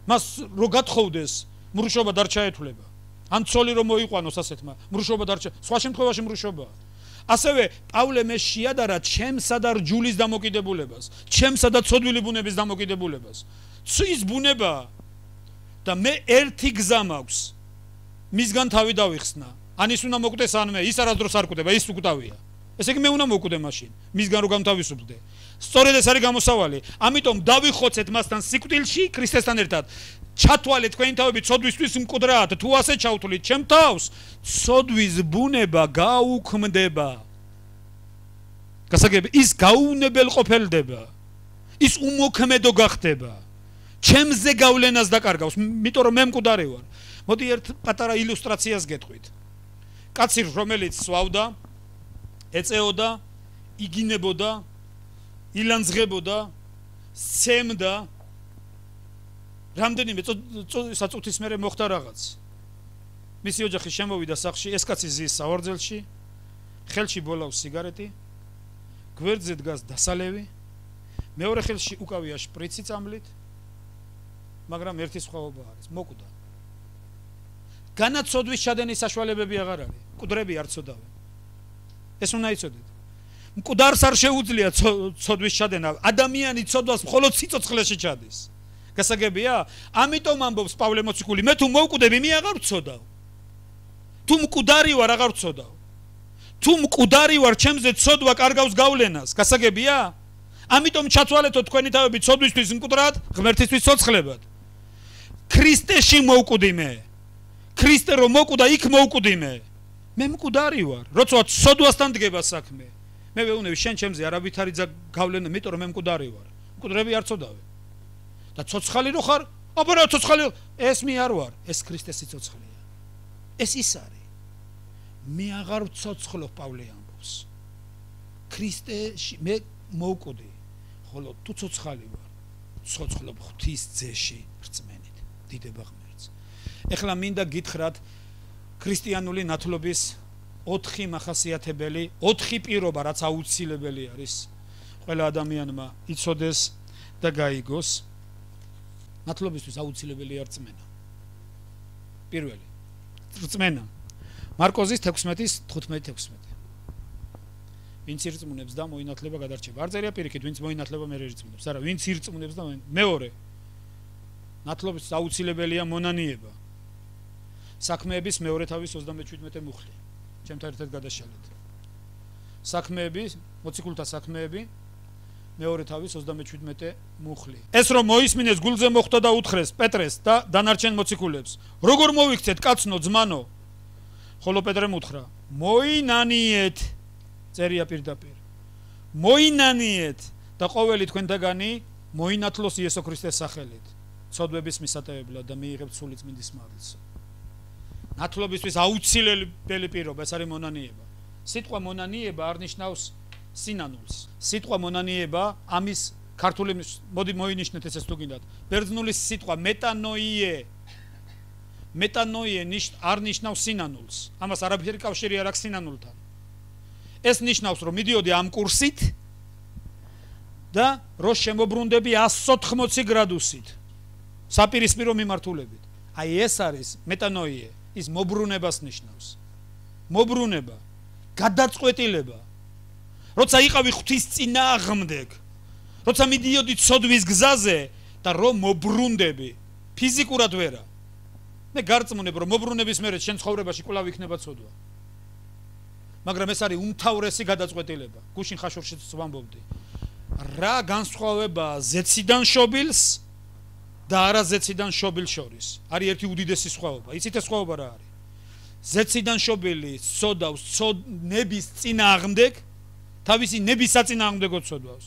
მას რო გათხოვდეს, მრუშობა არ ჩაეთვლება. ან ცოლი რომ მოიყვანოს ასეთმა, მრუშობა არ ჩა. სხვა შემთხვევაში მრუშობაა. ასევე პავლე მე შეადარა ჩემსა და რჯულის დამოკიდებულებას, ჩემსა და ცოდვილი ბუნების დამოკიდებულებას. ის ბუნება და მე ერთი გზა მაქვს. მისგან თავი დავიხსნა. ან ის უნდა მოკვდეს ან მე, ის არასდროს არ კვდება, ის უკვდავია. ესე იგი მე უნდა მოკვდე მაშინ, მისგან რო გამთავისუფლდე. სწორედ ეს არის გამოსავალი. ამიტომ დავიხოცეთ მასთან სიკვდილში, ქრისტესთან ერთად. ჩათვალეთ თქვენი თავები ცოდვისთვის მკვდრად, თუ ასე ჩავთვლით ჩემ თავს, ცოდვის ბუნება გაუქმდება. გასაგები, ის გაუნებელყოფელდება. ის უმოქმედო გახდება. ჩემზე გავლენას დაკარგავს, იმიტომ რომ მე მკვდარი ვარ. მოდი ერთ პატარა ილუსტრაციას გეტყვით. კაცი რომელიც სვავდა, ეწეოდა, იგინებოდა, ილანძღებოდა, სცემდა, რამდენიმე საწუთის მერე მოხდა რაღაც. მისი ოჯახი შემოვიდა სახლში, ეს კაცი ზის საوارძელში, ხელში ბოლავს სიგარეტი, გვერდზე დგას დასალევი, მეორე ხელში უკავია შპრიცი წამლით, მაგრამ ერთი სხვაობა არის, მოკვდა. განაცოდვის ჩადენის საშუალებები აღარ არის, მკვდრები არ ცოდავენ. ეს უნდა იცოდეთ. მკვდარს არ შეუძლია ცოდვის ჩადენა, ადამიანი ცოდვას მხოლოდ სიცოცხლეში ჩადის. გასაგებია? ამიტომ ამბობს პავლე მოციქული, მე თუ მოვკვდები, მე აღარ ვცოდავ. თუ მკვდარი ვარ, აღარ ვცოდავ. თუ მკვდარი ვარ, ჩემზე ცოდვა კარგავს გავლენას. გასაგებია? ამიტომ ჩათვალეთო თქვენი თავები ცოდვისთვის მკვდრად, ღმერთისთვის ცოცხლებად. ქრისტეში მოვკვდი მე. ქრისტე რომ მოკვდა, იქ მოვკვდი მე. მე მკვდარი ვარ. როცა ცოდვასთან დგება საქმე. მე ვეუბნები შენ ჩემზე არავითარი გავლენა, იმიტომ რომ მე მკვდარი ვარ. მკვდრები არ ცოდავენ. და ცოცხალი რო ხარ, აბა რა ცოცხალი, ეს მე არ ვარ, ეს ქრისტეს სიცოცხლეა. ეს ის არის. მე აღარ ვცოცხლობ, პავლე ამბობს. ქრისტეში მე მოვკვდი, ხოლო თუ ცოცხალი ვარ, ცოცხლობ ღვთის ძეში რწმენით, დიდება ღმერთს. ეხლა მინდა გითხრათ ქრისტიანული ნათლობის ოთხი მახასიათებელი, ოთხი პირობა, რაც აუცილებელი არის ყველა ადამიანმა იცოდეს და გაიგოს. ნათლობისთვის აუცილებელია რწმენა. პირველი რწმენა. მარკოზის თექვსმეტის თხუთმეტი თექვსმეტი. ვინც ირწმუნებს და მოინათლება გადარჩება. არ წერია პირიქით, ვინც მოინათლება მე ირწმუნებს. არა, ვინც ირწმუნებს და მეორე. ნათლობის აუცილებელია მონანიება. საქმეების მეორე თავის ოცდამეჩვიდმეტე მუხლი. ჩემთან ერთად გადაშალეთ. საქმეების, მოციქულთა საქმეები მეორე თავის ოცდამეჩვიდმეტე მუხლი. ეს რომ მოისმინეს გულზე მოხვდა და უთხრეს პეტრეს და დანარჩენ მოციქულებს. როგორ მოვიქცეთ კაცნო ძმანო? ხოლო პეტრემ უთხრა, მოინანიეთ, წერია პირდაპირ. მოინანიეთ და ყოველი თქვენთაგანი მოინათლოს იესო ქრისტეს სახელით, ცოდვების მისატევებლად და მიიღებთ სული წმინდის მადლს. ნათლობისთვის აუცილებელი პირობა ეს არის მონანიება. სიტყვა მონანიება არ ნიშნავს სინანულს. სიტყვა მონანიება ამის ქართული მოდი მოინიშნეთ ეს თუ გინდათ. ბერძნული სიტყვა მეტანოიე მეტანოიე არ ნიშნავს სინანულს. ამას არაფერი კავშირი არ აქვს სინანულთან. ეს ნიშნავს რომ მიდიოდი ამ კურსით და რო შემოbrundები εκατს ოთხმოცი გრადუსით საპირისპირო მიმართულებით. აი ეს არის მეტანოიე, ის მოbrunებას ნიშნავს. მოbrunება, გადაწყვეტილება. როცა იყავი ღვთის წინააღმდეგ, როცა მიდიოდი ცოდვის გზაზე და რომ მოbrundები, ფიზიკურად ვერა. მე გარწმუნებ რომ მოbrunების მერე შენ ცხოვრებაში კვლავ იქნება ცოდვა. მაგრამ ეს არის უმთავრესი გადაწყვეტილება. გუშინ ხაშურშიც ვამბობდი. რა განსხვავება ზეციდან შობილს და არა ზეციდან შობილს შორის? არის ერთი უდიდესი სხვაობა. იცით ეს სხვაობა რა არის? ზეციდან შობილი ცოდავს ნების წინააღმდეგ, თავისი ნების საწინააღმდეგო ცოდავს.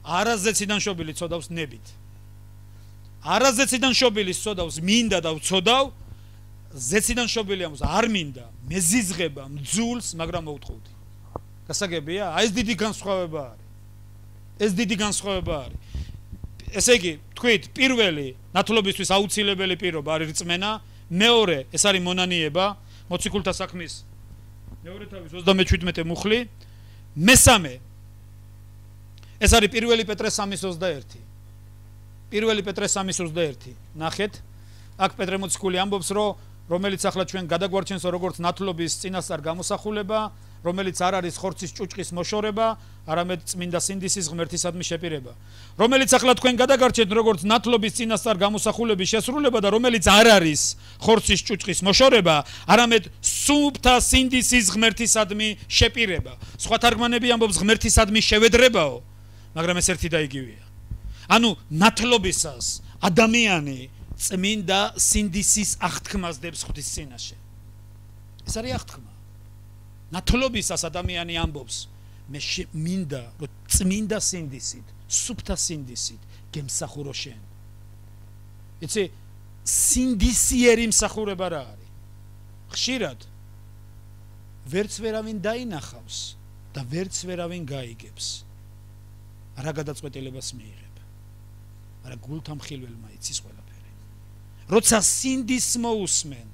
არა ზეციდან შობილი ცოდავს ნებით. არა ზეციდან შობილი ცოდავს მინდა და ვცოდავ, ზეციდან შობილი ამბობს არ მინდა, მეზიზღება, მძულს, მაგრამ მოვთხოვდი. გასაგებია? აი ეს დიდი განსხვავება არის. ეს დიდი განსხვავება არის. ესე იგი, თქვით, პირველი ნათლობისთვის აუცილებელი პირობა არის რწმენა, მეორე ეს არის მონანიება, მოციქულთა საქმის მეორე თავის ოცდამეჩვიდმეტე მუხლი, მესამე ეს არის პირველი პეტრეს სამის ოცდაერთი. პირველი პეტრეს სამის ოცდაერთი. ნახეთ, აქ პეტრე მოციქული ამბობს, რომ რომელიც ახლა ჩვენ გადაგვარჩენს როგორც ნათლობის წინასწარ გამოსახულება, რომელიც არ არის ხორცის ჭუჭყის მოშორება, არამედ წმინდა სინდისის ღმერთისადმი შეპირება. რომელიც ახლა თქვენ გადაგარჩენთ როგორც ნათლობის წინასწარ გამოსახულების შესრულება და რომელიც არ არის ხორცის ჭუჭყის მოშორება, არამედ სუფთა სინდისის ღმერთისადმი შეპირება. სხვა თარგმანები ამბობს ღმერთისადმი შევედრებაო, მაგრამ ეს ერთი და იგივეა. ანუ ნათლობისას ადამიანი წმინდა სინდისის აღთქმას დებს ღვთის წინაშე. ეს არის აღთქმა. ნათლობისას ადამიანი ამბობს, მე მინდა რომ წმინდა სინდისით, სუფთა სინდისით გემსახურო შენ. იცი, სინდისიერი მსახურება რა არის? ხშირად ვერც ვერავინ დაინახავს და ვერც ვერავინ გაიგებს. რა გადაწყვეტილებას მიიღებ? მაგრამ გულთან მხილველმა იცის ყველაფერი. როცა სინდის მოусმენ,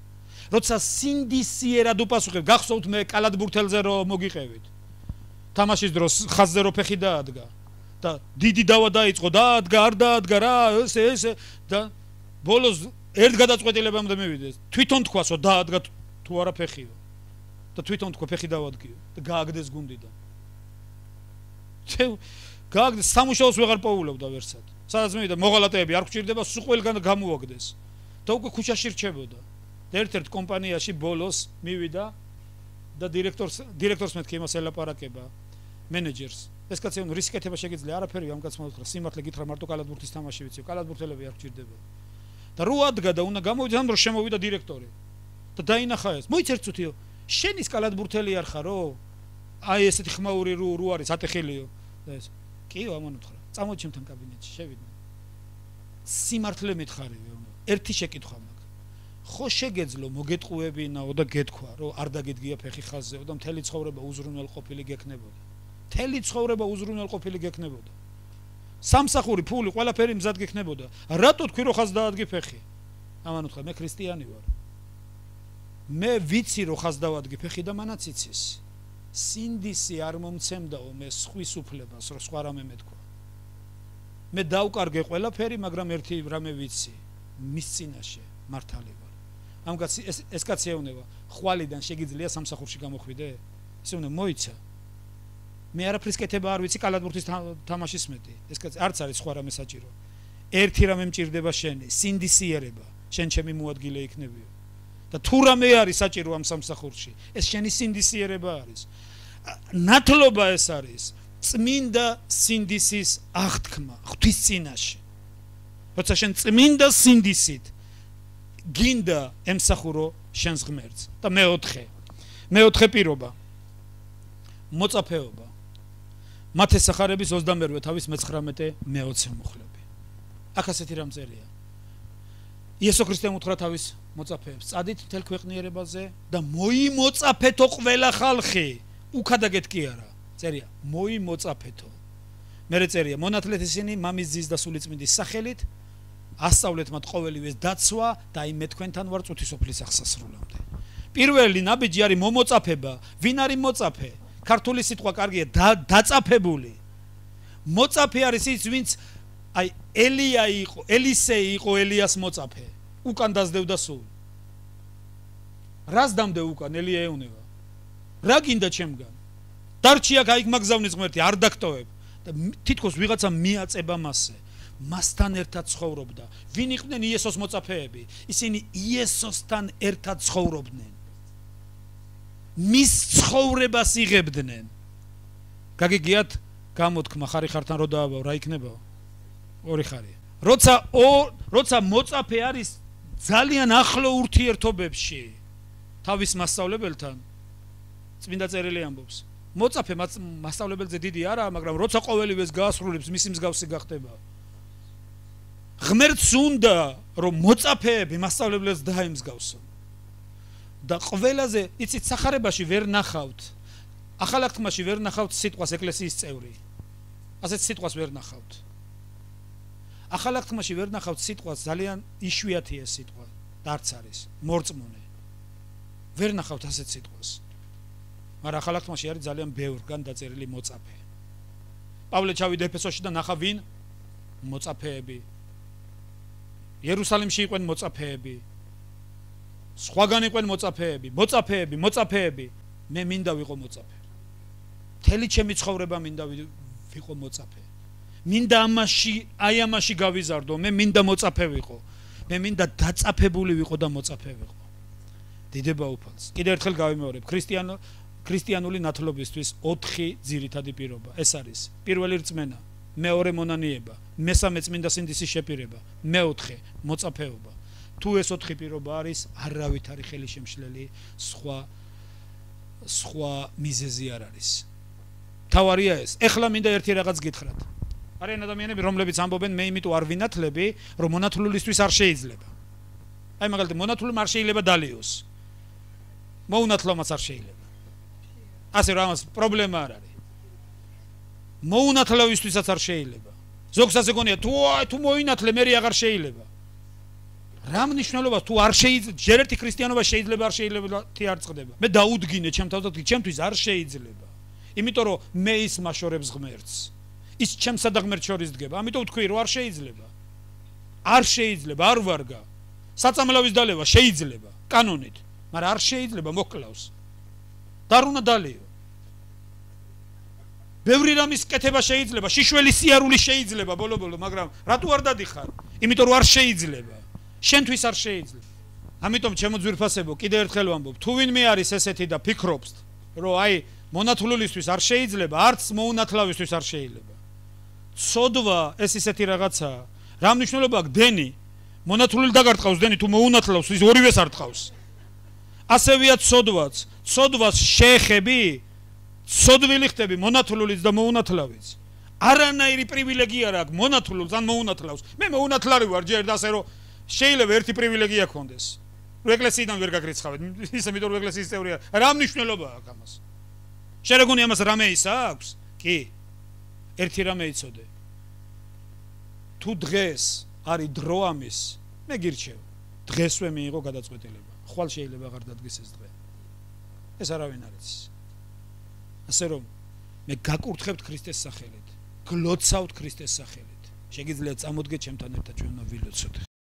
როცა სინდისიერად უპასუხებ, გახსოვთ მე კალათბურთელზე რომ მოგიყევით. თამაშის დროს ხაზზე რო ფეხი დაადგა და დიდი დავა დაიწყო, დაადგა, არ დაადგა რა, ესე ესე და ბოლოს ერთ გადაწყვეტილებამდე მივიდეს. თვითონ თქვას რომ დაადგა თუ არა ფეხიო. და თვითონ თქვა ფეხი დავადგიო და გააგდეს გუნდიდან. გააგდეს სამუშაოს ვეღარ პოულობდა ვერსად. სადაც მივიდა მოღალატეები არ გვჭირდება, სულ ყველგან გამოაგდეს. და უკვე ქუჩაში რჩებოდა. და ერთ-ერთ კომპანიაში ბოლოს მივიდა და დირექტორს დირექტორს მეთქი იმას ელაპარაკება მენეჯერს. ეს კაცი უნდა რისკი კეთება შეგიძლია, არაფერი ამ კაცმა უთხრა, სიმართლე გითხრა, მარტო კალათბურთის თამაში ვიცი, კალათბურთელები არ გვჭირდება. და რო ადგა და უნდა გამოვიდა, ამ დროს შემოვიდა დირექტორი. და დაინახა ეს. მოიცერთ წუთიო, შენ ის კალათბურთელი არ ხარო? აი ესეთი ხმაური რო რო არის, ატეხილიო. და ეს კიო ამან უთხრა. წამოდი ჩემთან კაბინეტში, შევიდნენ. სიმართლე მითხარივე, ერთი შეკითხვა მაქვს. ხო შეგეძლო მოგეტყუებინაო და გეთქვა, რომ არ დაგედგია ფეხი ხაზზეო და მთელი ცხოვრება უზრუნველყოფილი გექნებოდა. მთელი ცხოვრება უზრუნველყოფილი გექნებოდა. სამსახური, ფული, ყველაფერი მზად გექნებოდა. რატო თქვი რომ ხაზ დაადგი ფეხი? ამან უთხრა, მე ქრისტიანი ვარ. მე ვიცი რომ ხაზ დავადგი ფეხი და მანაც იცის. სინდისი არ მომცემდაო მე სხვის უფლებას, რომ სხვა რამე მეთქვა. მე დავკარგე ყველაფერი, მაგრამ ერთი რამე ვიცი, მის წინაშე მართალი ვარ. ამ კაცი ეს ეს კაცი ეუბნება, ხვალიდან შეგიძლია სამსახურში გამოხვიდე? ესე უნდა მოიცა. მე არაფრის კეთება არ ვიცი, კალათბურთის თამაშის მეტი. ეს კაცი არც არის სხვა რამე საჭირო. ერთი რამე მჭირდება შენი, სინდისიერება, შენ ჩემი მოადგილე იქნებიო. და თუ რამე არის საჭირო ამ სამსახურში, ეს შენი სინდისიერება არის. ნათლობა ეს არის წმინდა სინდისის აღთქმა ღვთის წინაშე. როცა შენ წმინდა სინდისით გინდა ემსახურო შენს ღმერთს. და მეოთხე, მეოთხე პირობა, მოწაფეობა. მათეს სახარების ოცდამერვე თავის მეცხრამეტე მეოცე მუხლები. აქ ასეთი რამ წერია. იესო ქრისტემ უთხრა თავის მოწაფეებს, წადით მთელ ქვეყნიერებაზე და მოიმოწაფეთო ყველა ხალხი. უქადაგეთ კი არა. წერია, მოიმოწაფეთო. მერე წერია, მონათლეთ ისინი მამის ძის და სულიწმინდის სახელით, ასწავლეთ მათ ყოველივეს დაცვა და აი მე თქვენთან ვარ წუთისოფლის აღსასრულამდე. პირველი ნაბიჯი არის მომოწაფება. ვინ არის მოწაფე? ქართული სიტყვა კარგია, დაწაფებული. მოწაფე არის ის, ვინც აი ელია იყო, ელისეი იყო ელიას მოწაფე. უკან დაძდევდა სულ. რას დამდე უკან ელია ეუნება? რა გინდა ჩემგან? დარჩი აქ აიქ მაგზავნის ღმერთი, არ დაგტოვებ. და თითქოს ვიღაცა მიაწება მასზე. მასთან ერთად ცხოვრობდა. ვინ იყვნენ იესოს მოწაფეები? ისინი იესოსთან ერთად ცხოვრობდნენ. მის ცხოვრებას იღებდნენ. გაგიგიათ გამოთქმა ხარი ხართან რო დააბავ, რა იქნებაო? ორი ხარია. როცა როცა მოწაფე არის ძალიან ახლო ურთიერთობებში თავის მასწავლებელთან, წმინდა წერილი ამბობს. მოწაფე მასწავლებელზე დიდი არაა, მაგრამ როცა ყოველივეს გაასრულებს, მისი მსგავსი გახდება. ღმერთს უნდა რომ მოწაფეები მასწავლებელს დაემსგავსონ. და ყველაზე იცით სახარებაში ვერ ნახავთ ახალ აღთქმაში ვერ ნახავთ სიტყვას ეკლესიის წევრი. ასეთ სიტყვას ვერ ნახავთ. ახალ აღთქმაში ვერ ნახავთ სიტყვას, ძალიან იშვიათია სიტყვა, დარც არის, მორწმუნე. ვერ ნახავთ ასეთ სიტყვას. მაგრამ ახალ აღთქმაში არის ძალიან ბევრგან დაწერილი მოწაფე. პავლე ჩავიდა ეფესოში და ნახა ვინ? მოწაფეები. იერუსალიმში იყვნენ მოწაფეები. სხვაგან იყვნენ მოწაფეები, მოწაფეები, მოწაფეები. მე მინდა ვიყო მოწაფე. მთელი ჩემი ცხოვრება მინდა ვიყო მოწაფე. მინდა ამაში, აი ამაში გავიზარდო, მე მინდა მოწაფე ვიყო. მე მინდა დაწაფებული ვიყო და მოწაფე ვიყო. დიდება უფალს. კიდევ ერთხელ გავიმეორებ, ქრისტიანო ქრისტიანული ნათლობისთვის ოთხი ძირითადი პირობა. ეს არის პირველი რწმენა, მეორე მონანიება, მესამე წმინდა სინდისის შეპირება, მეოთხე მოწაფეობა. თუ ეს ოთხი პირობა არის, არავით არის ხელი შემშლელი, სხვა სხვა მიზეზი არ არის. თავარია ეს. ეხლა მინდა ერთი რაღაც გითხრათ. არიან ადამიანები, რომლებიც ამბობენ, მე იმიტომ არ ვინათლები, რომ მონათლულისთვის არ შეიძლება. აი მაგალითად, მონათლულმა არ შეიძლება დალიოს. მოუნათლომაც არ შეიძლება. ასე რომ ამას პრობლემა არ არის. მოუნათლავისთვისაც არ შეიძლება. ზოგს ასე გონია, თუ თუ მოინათლე, მე აღარ შეიძლება. რა მნიშვნელობა თუ არ შეიძლება, ჯერ ერთი ქრისტიანობა შეიძლება არ შეიძლება თი არ წყდება. მე დაუდგინე ჩემ თავად, ჩემთვის არ შეიძლება. იმიტომ რომ მე ის მაშორებს ღმერთს. ის ჩემსა და ღმერთს შორის დგება. ამიტომ ვთქვი რომ არ შეიძლება. არ შეიძლება, არ ვარგა. საწამლავის დალევა შეიძლება კანონით, მაგრამ არ შეიძლება მოკლავს. და არ უნდა დალიო. ბევრი რამის კეთება შეიძლება, შიშველი სიარული შეიძლება ბოლო-ბოლო, მაგრამ რატო არ დადიხარ? იმიტომ რომ არ შეიძლება. შენთვის არ შეიძლება. ამიტომ ჩემო ძვირფასებო, კიდევ ერთხელ ვამბობ, თუ ვინმე არის ესეთი და ფიქრობს, რომ აი მონათლულისთვის არ შეიძლება, არც მოუნათლავისთვის არ შეიძლება. ცოდვა ეს ისეთი რაღაცაა. რა მნიშვნელობა აქვს დენი? მონათლული დაგარტყავს დენი თუ მოუნათლავს, ის ორივეს არ ტყავს. ასევეა ცოდვაც. ცოდვას შეეხები, ცოდვილი ხდები მონათლულიც და მოუნათლავიც. არანაირი პრივილეგია არ აქვს მონათლულს ან მოუნათლავს. მე მოუნათლარი ვარ ჯერ და ასე რომ შეიძლება ერთი პრივილეგია გქონდეს. რომ ეკლესიიდან ვერ გაგრიცხავეთ, ისე იმიტომ რომ ეკლესიის წევრია. რა მნიშვნელობა აქვს ამას? შეგონი ამას რამე ის აქვს? კი. ერთი რამე იცოდე. თუ დღეს არის დრო ამის, მე გირჩევ. დღესვე მიიღო გადაწყვეტილება. ხვალ შეიძლება აღარ დადგეს ეს დღე. ეს არავინ არ იცის. ასე რომ მე გაკურთხებთ ქრისტეს სახელით, გლოცავთ ქრისტეს სახელით. შეგიძლიათ წამოდგეთ ჩემთან ერთად ჩვენ უნდა ვილოცოთ.